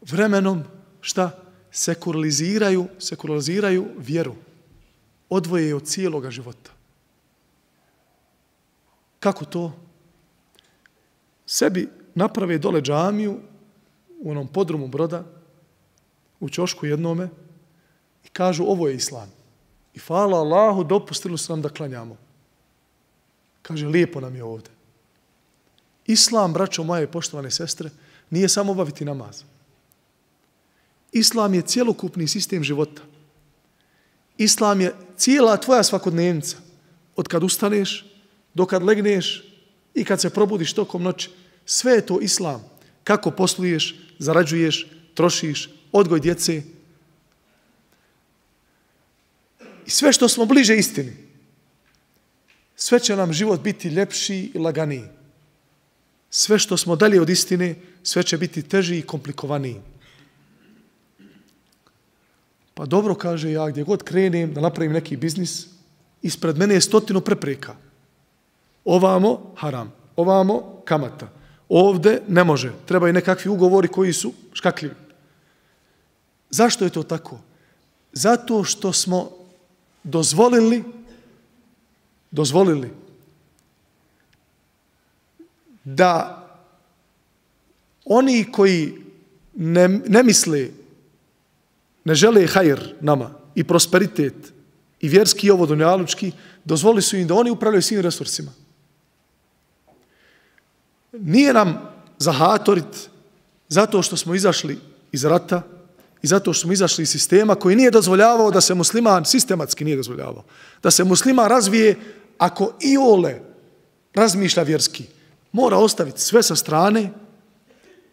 vremenom, šta? Sekulaliziraju vjeru. Odvoje je od cijeloga života. Kako to? Sebi naprave dole džamiju u onom podrumu Broda, u ćošku jednome, i kažu ovo je islam. I hvala Allahu, dopustili su nam da klanjamo. Kaže, lijepo nam je ovdje. Islam, braćo moje poštovane sestre, nije samo obaviti namaz. Islam je cjelokupni sistem života. Islam je cijela tvoja svakodnevnica. Od kad ustaneš, do kad legneš i kad se probudiš tokom noći. Sve je to islam. Kako posluješ, zarađuješ, trošiš, odgoj djece. I sve što smo bliže istini, sve će nam život biti ljepši i laganiji. Sve što smo dalje od istine, sve će biti teži i komplikovaniji. Pa dobro, kaže, ja gdje god krenem da napravim neki biznis, ispred mene je 100 prepreka. Ovamo haram, ovamo kamata. Ovde ne može. Trebaju nekakvi ugovori koji su škakljivi. Zašto je to tako? Zato što smo dozvolili da oni koji ne misle, ne žele hajr nama i prosperitet i vjerski i ovo dunjalučki, dozvolili su im da oni upravljaju svim resursima. Nije nam zahatorit zato što smo izašli iz rata i zato što smo izašli iz sistema koji nije dozvoljavao da se musliman, sistematski nije dozvoljavao, da se musliman razvije ako iole razmišlja vjerski. Mora ostaviti sve sa strane,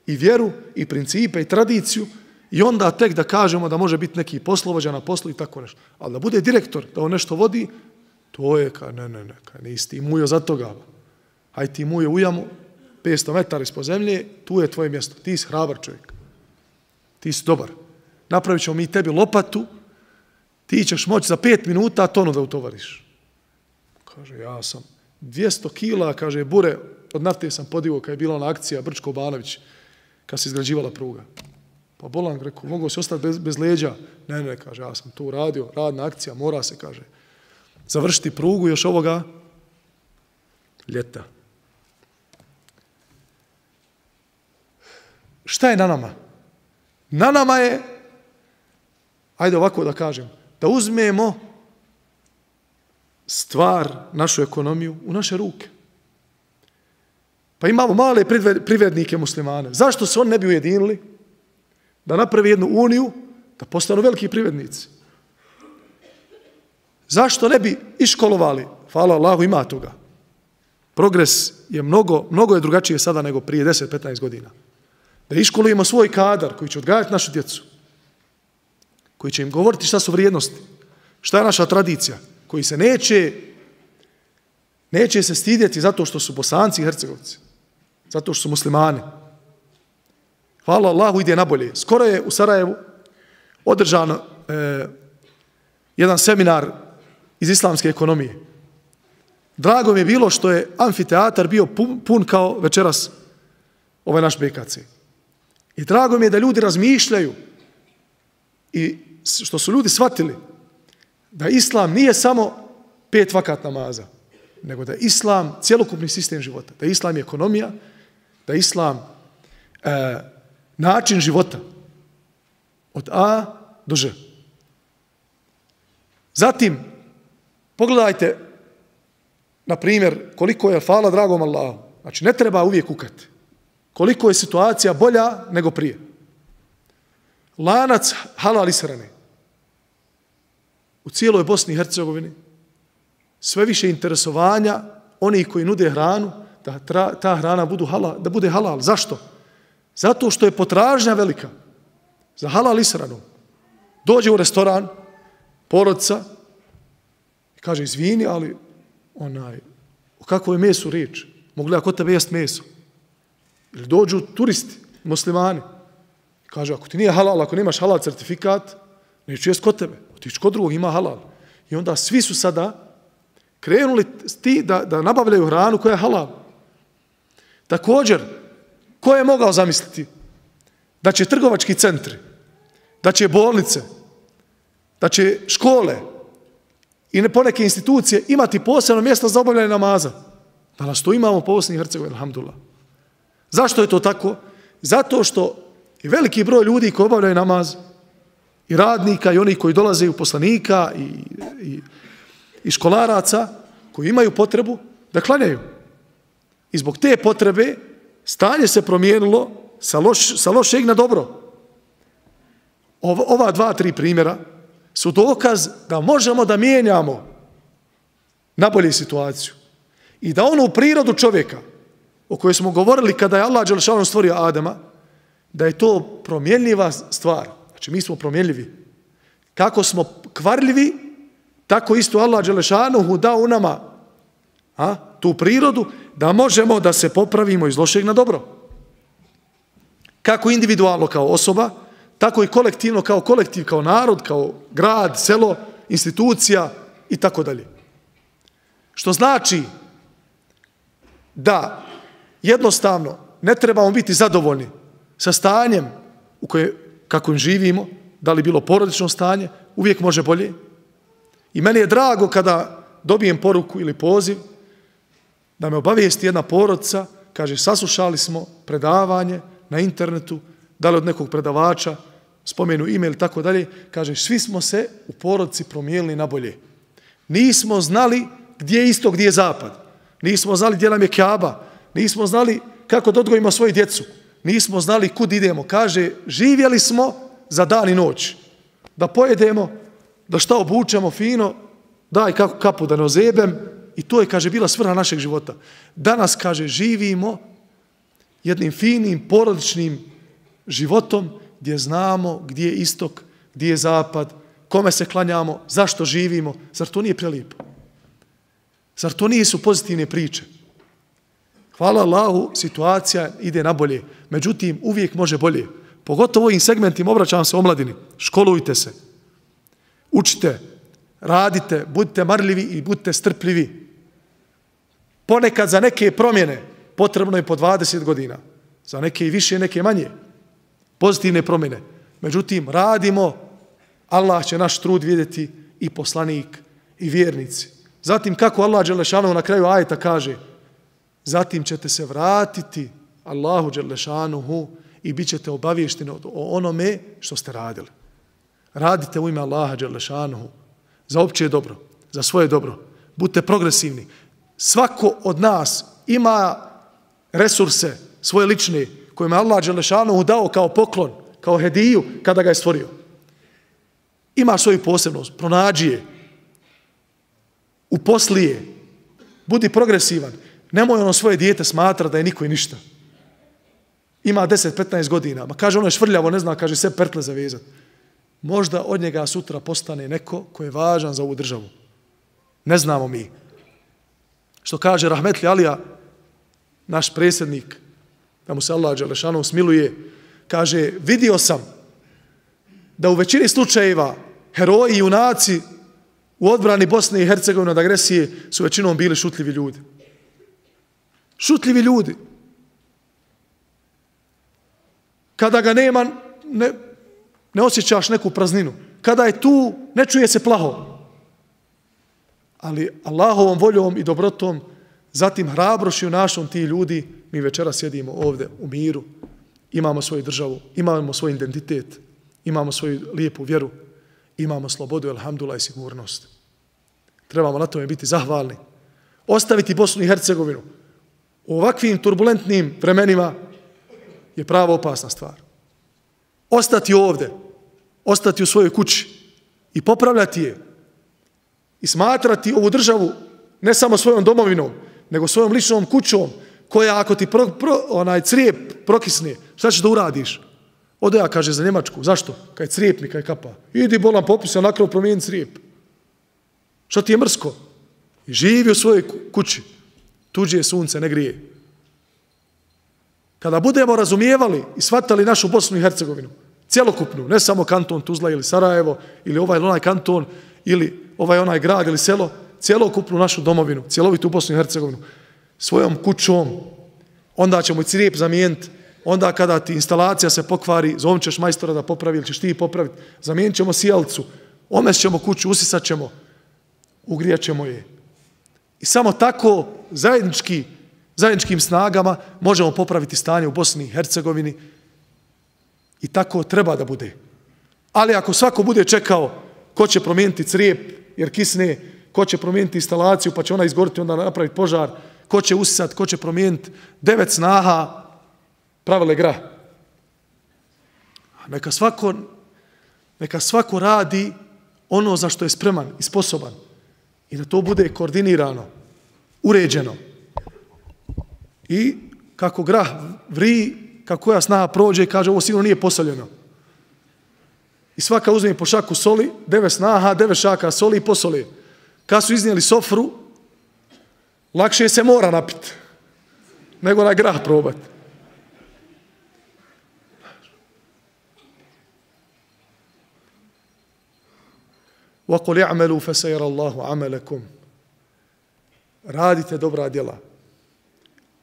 i vjeru, i principe, i tradiciju, i onda tek da kažemo da može biti neki poslovođa na poslu i tako nešto. Ali da bude direktor, da on nešto vodi, to je, nisi ti mujo za toga. Hajde ti mujo u jamu, 500 metara ispod zemlje, tu je tvoje mjesto. Ti si hrabar čovjek. Ti si dobar. Napravit ćemo mi tebi lopatu, ti ćeš moći za 5 minuta tonu da utovariš. Kaže, ja sam 200 kila, kaže, bure od nafte sam podigao kad je bila ona akcija Brčko-Banović, kad se izgrađivala pruga. Pa bolan, rekao, mogu se ostati bez leđa. Ne, kaže, ja sam tu radio, radna akcija, mora se, kaže, završiti prugu još ovoga ljeta. Šta je na nama? Na nama je, ajde ovako da kažem, da uzmemo stvar, našu ekonomiju u naše ruke. Pa imamo male privrednike muslimane. Zašto se oni ne bi ujedinili? Da napravi jednu uniju, da postanu veliki privrednici. Zašto ne bi iškolovali? Hvala Allahu, ima toga. Progres je mnogo je drugačije sada nego prije 10-15 godina. Da iškolujemo svoj kadar koji će odgajati našu djecu, koji će im govoriti šta su vrijednosti, šta je naša tradicija, koji se neće se stidjeti zato što su Bosanci i Hercegovci, zato što su muslimani. Hvala Allahu, ide nabolje. Skoro je u Sarajevu održan jedan seminar iz islamske ekonomije. Drago mi je bilo što je amfiteatar bio pun kao večeras ovaj naš BKC. I drago mi je da ljudi razmišljaju i što su ljudi shvatili da islam nije samo 5 vakat namaza, nego da je islam cjelokupni sistem života, da je islam ekonomija, da je islam način života od A do Ž. Zatim, pogledajte, na primjer, koliko je hvala dragom Allahu. Znači, ne treba uvijek kukati. Koliko je situacija bolja nego prije. Lanac halal ishrane. U cijeloj Bosni i Hercegovini sve više interesovanja onih koji nude hranu, da ta hrana da bude halal. Zašto? Zato što je potražnja velika za halal ishranu. Dođe u restoran, porodica, Kaže, izvini, ali o kakvo je mesu riječ? Mogu li ja kod tebe jest meso? Ili dođu turisti, muslimani. Kaže, ako ti nije halal, ako nemaš halal certifikat, neću jest kod tebe. Otići kod drugog, ima halal. I onda svi su sada krenuli da nabavljaju hranu koja je halal. Također, ko je mogao zamisliti da će trgovački centri, da će bolnice, da će škole i poneke institucije imati posebno mjesto za obavljanje namaza? Danas to imamo po Bosni i Hercegovini, alhamdulillah. Zašto je to tako? Zato što i veliki broj ljudi koji obavljaju namaz, i radnika, i oni koji dolaze u poslanika, i školaraca, koji imaju potrebu da klanjaju. I zbog te potrebe stanje se promijenilo sa lošeg na dobro. Ova 2-3 primjera su dokaz da možemo da mijenjamo nabolje situaciju. I da onu prirodu čovjeka o kojoj smo govorili kada je Allah dželešanu stvorio Adama, da je to promjenljiva stvar. Znači mi smo promjenljivi. Kako smo kvarljivi, tako isto Allah dželešanu dao u nama tu prirodu da možemo da se popravimo iz lošeg na dobro. Kako individualno kao osoba, tako i kolektivno kao kolektiv, kao narod, kao grad, selo, institucija i tako dalje. Što znači da jednostavno ne trebamo biti zadovoljni sa stanjem kako im živimo, da li bilo porodično stanje, uvijek može bolje. I meni je drago kada dobijem poruku ili poziv da me obavijesti jedna porodica, kaže saslušali smo predavanje na internetu, da li od nekog predavača, spomenu ime ili tako dalje, kaže svi smo se u porodici promijenili na bolje. Nismo znali gdje je istok, gdje je zapad. Nismo znali gdje nam je Kjaba. Nismo znali kako da odgojimo svoju djecu. Nismo znali kud idemo. Kaže, živjeli smo za dan i noć. Da pojedemo, da šta obučemo fino, daj kapu da ne ozebem. I to je, kaže, bila svrha našeg života. Danas, kaže, živimo jednim finim, porodičnim životom gdje znamo gdje je istok, gdje je zapad, kome se klanjamo, zašto živimo. Zar to nije prelijepo? Zar to nisu pozitivne priče? Hvala Allahu, situacija ide na bolje. Međutim, uvijek može bolje. Pogotovo ovim segmentima, obraćam se omladini. Školujte se. Učite, radite, budite marljivi i budite strpljivi. Ponekad za neke promjene potrebno je po 20 godina. Za neke i više, neke manje. Pozitivne promjene. Međutim, radimo, Allah će naš trud vidjeti i poslanik i vjernici. Zatim, kako Allah dželešanu na kraju ajeta kaže, zatim ćete se vratiti Allahu dželešanuhu i bit ćete obavješteni o onome što ste radili. Radite u ime Allaha dželešanuhu za opće dobro, za svoje dobro. Budite progresivni. Svako od nas ima resurse svoje lične kojima je Allah dželešanuhu dao kao poklon, kao hediju kada ga je stvorio. Ima svoju posebnost, pronađi je, uposli je, budi progresivan. Nemoj ono svoje dijete smatra da je niko i ništa. Ima 10-15 godina, ma kaže ono je švrljavo, ne zna, kaže sve pertle zavezati. Možda od njega sutra postane neko ko je važan za ovu državu. Ne znamo mi. Što kaže Rahmetli Alija, naš predsjednik, da mu se Allah dželešanu smiluje, kaže, vidio sam da u većini slučajeva heroji i junaci u odbrani Bosne i Hercegovine od agresije su većinom bili šutljivi ljudi. Šutljivi ljudi. Kada ga nema, ne osjećaš neku prazninu. Kada je tu, ne čuje se plaho. Ali Allahovom voljom i dobrotom, zatim hrabrošću našom ti ljudi, mi večera sjedimo ovdje u miru, imamo svoju državu, imamo svoj identitet, imamo svoju lijepu vjeru, imamo slobodu, alhamdulillah, i sigurnost. Trebamo na tome biti zahvalni. Ostaviti Bosnu i Hercegovinu u ovakvim turbulentnim vremenima je prava opasna stvar. Ostati ovdje, ostati u svojoj kući i popravljati je i smatrati ovu državu ne samo svojom domovinom, nego svojom ličnom kućom koja ako ti crijep prokisne, šta ćeš da uradiš? Ode ja, kaže, za Njemačku. Zašto? Kaj crijep mi, kaj kapa. Idi bolan popisa, nakrov promijeni crijep. Što ti je mrsko? I živi u svojoj kući. Tuđe sunce ne grije. Kada budemo razumijevali i shvatali našu Bosnu i Hercegovinu, cjelokupnu, ne samo kanton Tuzla ili Sarajevo, ili ovaj ili onaj kanton, ili ovaj onaj grad ili selo, cjelokupnu našu domovinu, cjelovitu Bosnu i Hercegovinu, svojom kućom, onda ćemo i crijep zamijeniti, onda kada ti instalacija se pokvari, zovem ćeš majstora da popravi ili ćeš ti popraviti, zamijenit ćemo sijalicu, omest ćemo kuću, usisat ćemo, ugrijat ćemo je. I samo tako zajedničkim snagama možemo popraviti stanje u Bosni i Hercegovini i tako treba da bude. Ali ako svako bude čekao ko će promijeniti crijep jer kisne, ko će promijeniti instalaciju pa će ona izgoriti, onda napraviti požar, ko će usisati, ko će promijeniti, 9 snaha pravile grah. Neka svako radi ono za što je spreman i sposoban i da to bude koordinirano, uređeno. I kako grah vri, kako koja snaha prođe i kaže ovo sigurno nije posoljeno. I svaka uzme po šaku soli, 9 snaha, 9 šaka soli i posoli. Kad su iznijeli sofru, lakše se mora napiti nego na grah probati. وَقُلْ يَعْمَلُوا فَسَيَرَ اللَّهُ عَمَلَكُمْ. Radite dobra djela.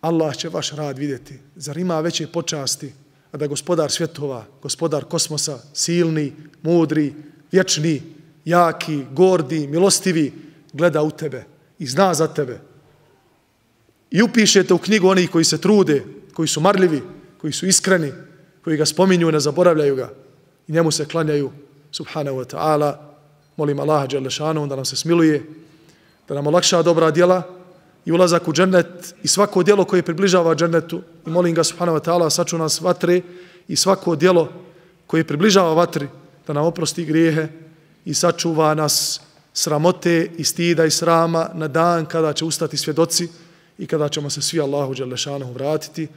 Allah će vaš rad vidjeti. Zar ima veće počasti, a da gospodar svjetova, gospodar kosmosa, silni, mudri, vječni, jaki, gordi, milostivi, gleda u tebe i zna za tebe. I upišete u knjigu onih koji se trude, koji su marljivi, koji su iskreni, koji ga spominju i ne zaboravljaju ga. I njemu se klanjaju, subhanahu wa ta'ala. Molim Allaha dželle šanehu da nam se smiluje, da nam olakša dobra djela i ulazak u džennet i svako djelo koje približava džennetu. I molim ga subhanahu wa ta'ala sačuva nas vatre i svako djelo koje približava vatri da nam oprosti grijehe i sačuva nas sramote i stida i srama na dan kada će ustati svjedoci i kada ćemo se svi Allahu dželle šanehu vratiti.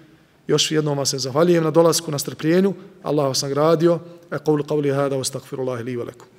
Još jednom vam se zahvaljujem na dolasku, na strpljenju. Allah vas nagradio. Aqulu qawli hada wa astaghfirullaha li wa lakum.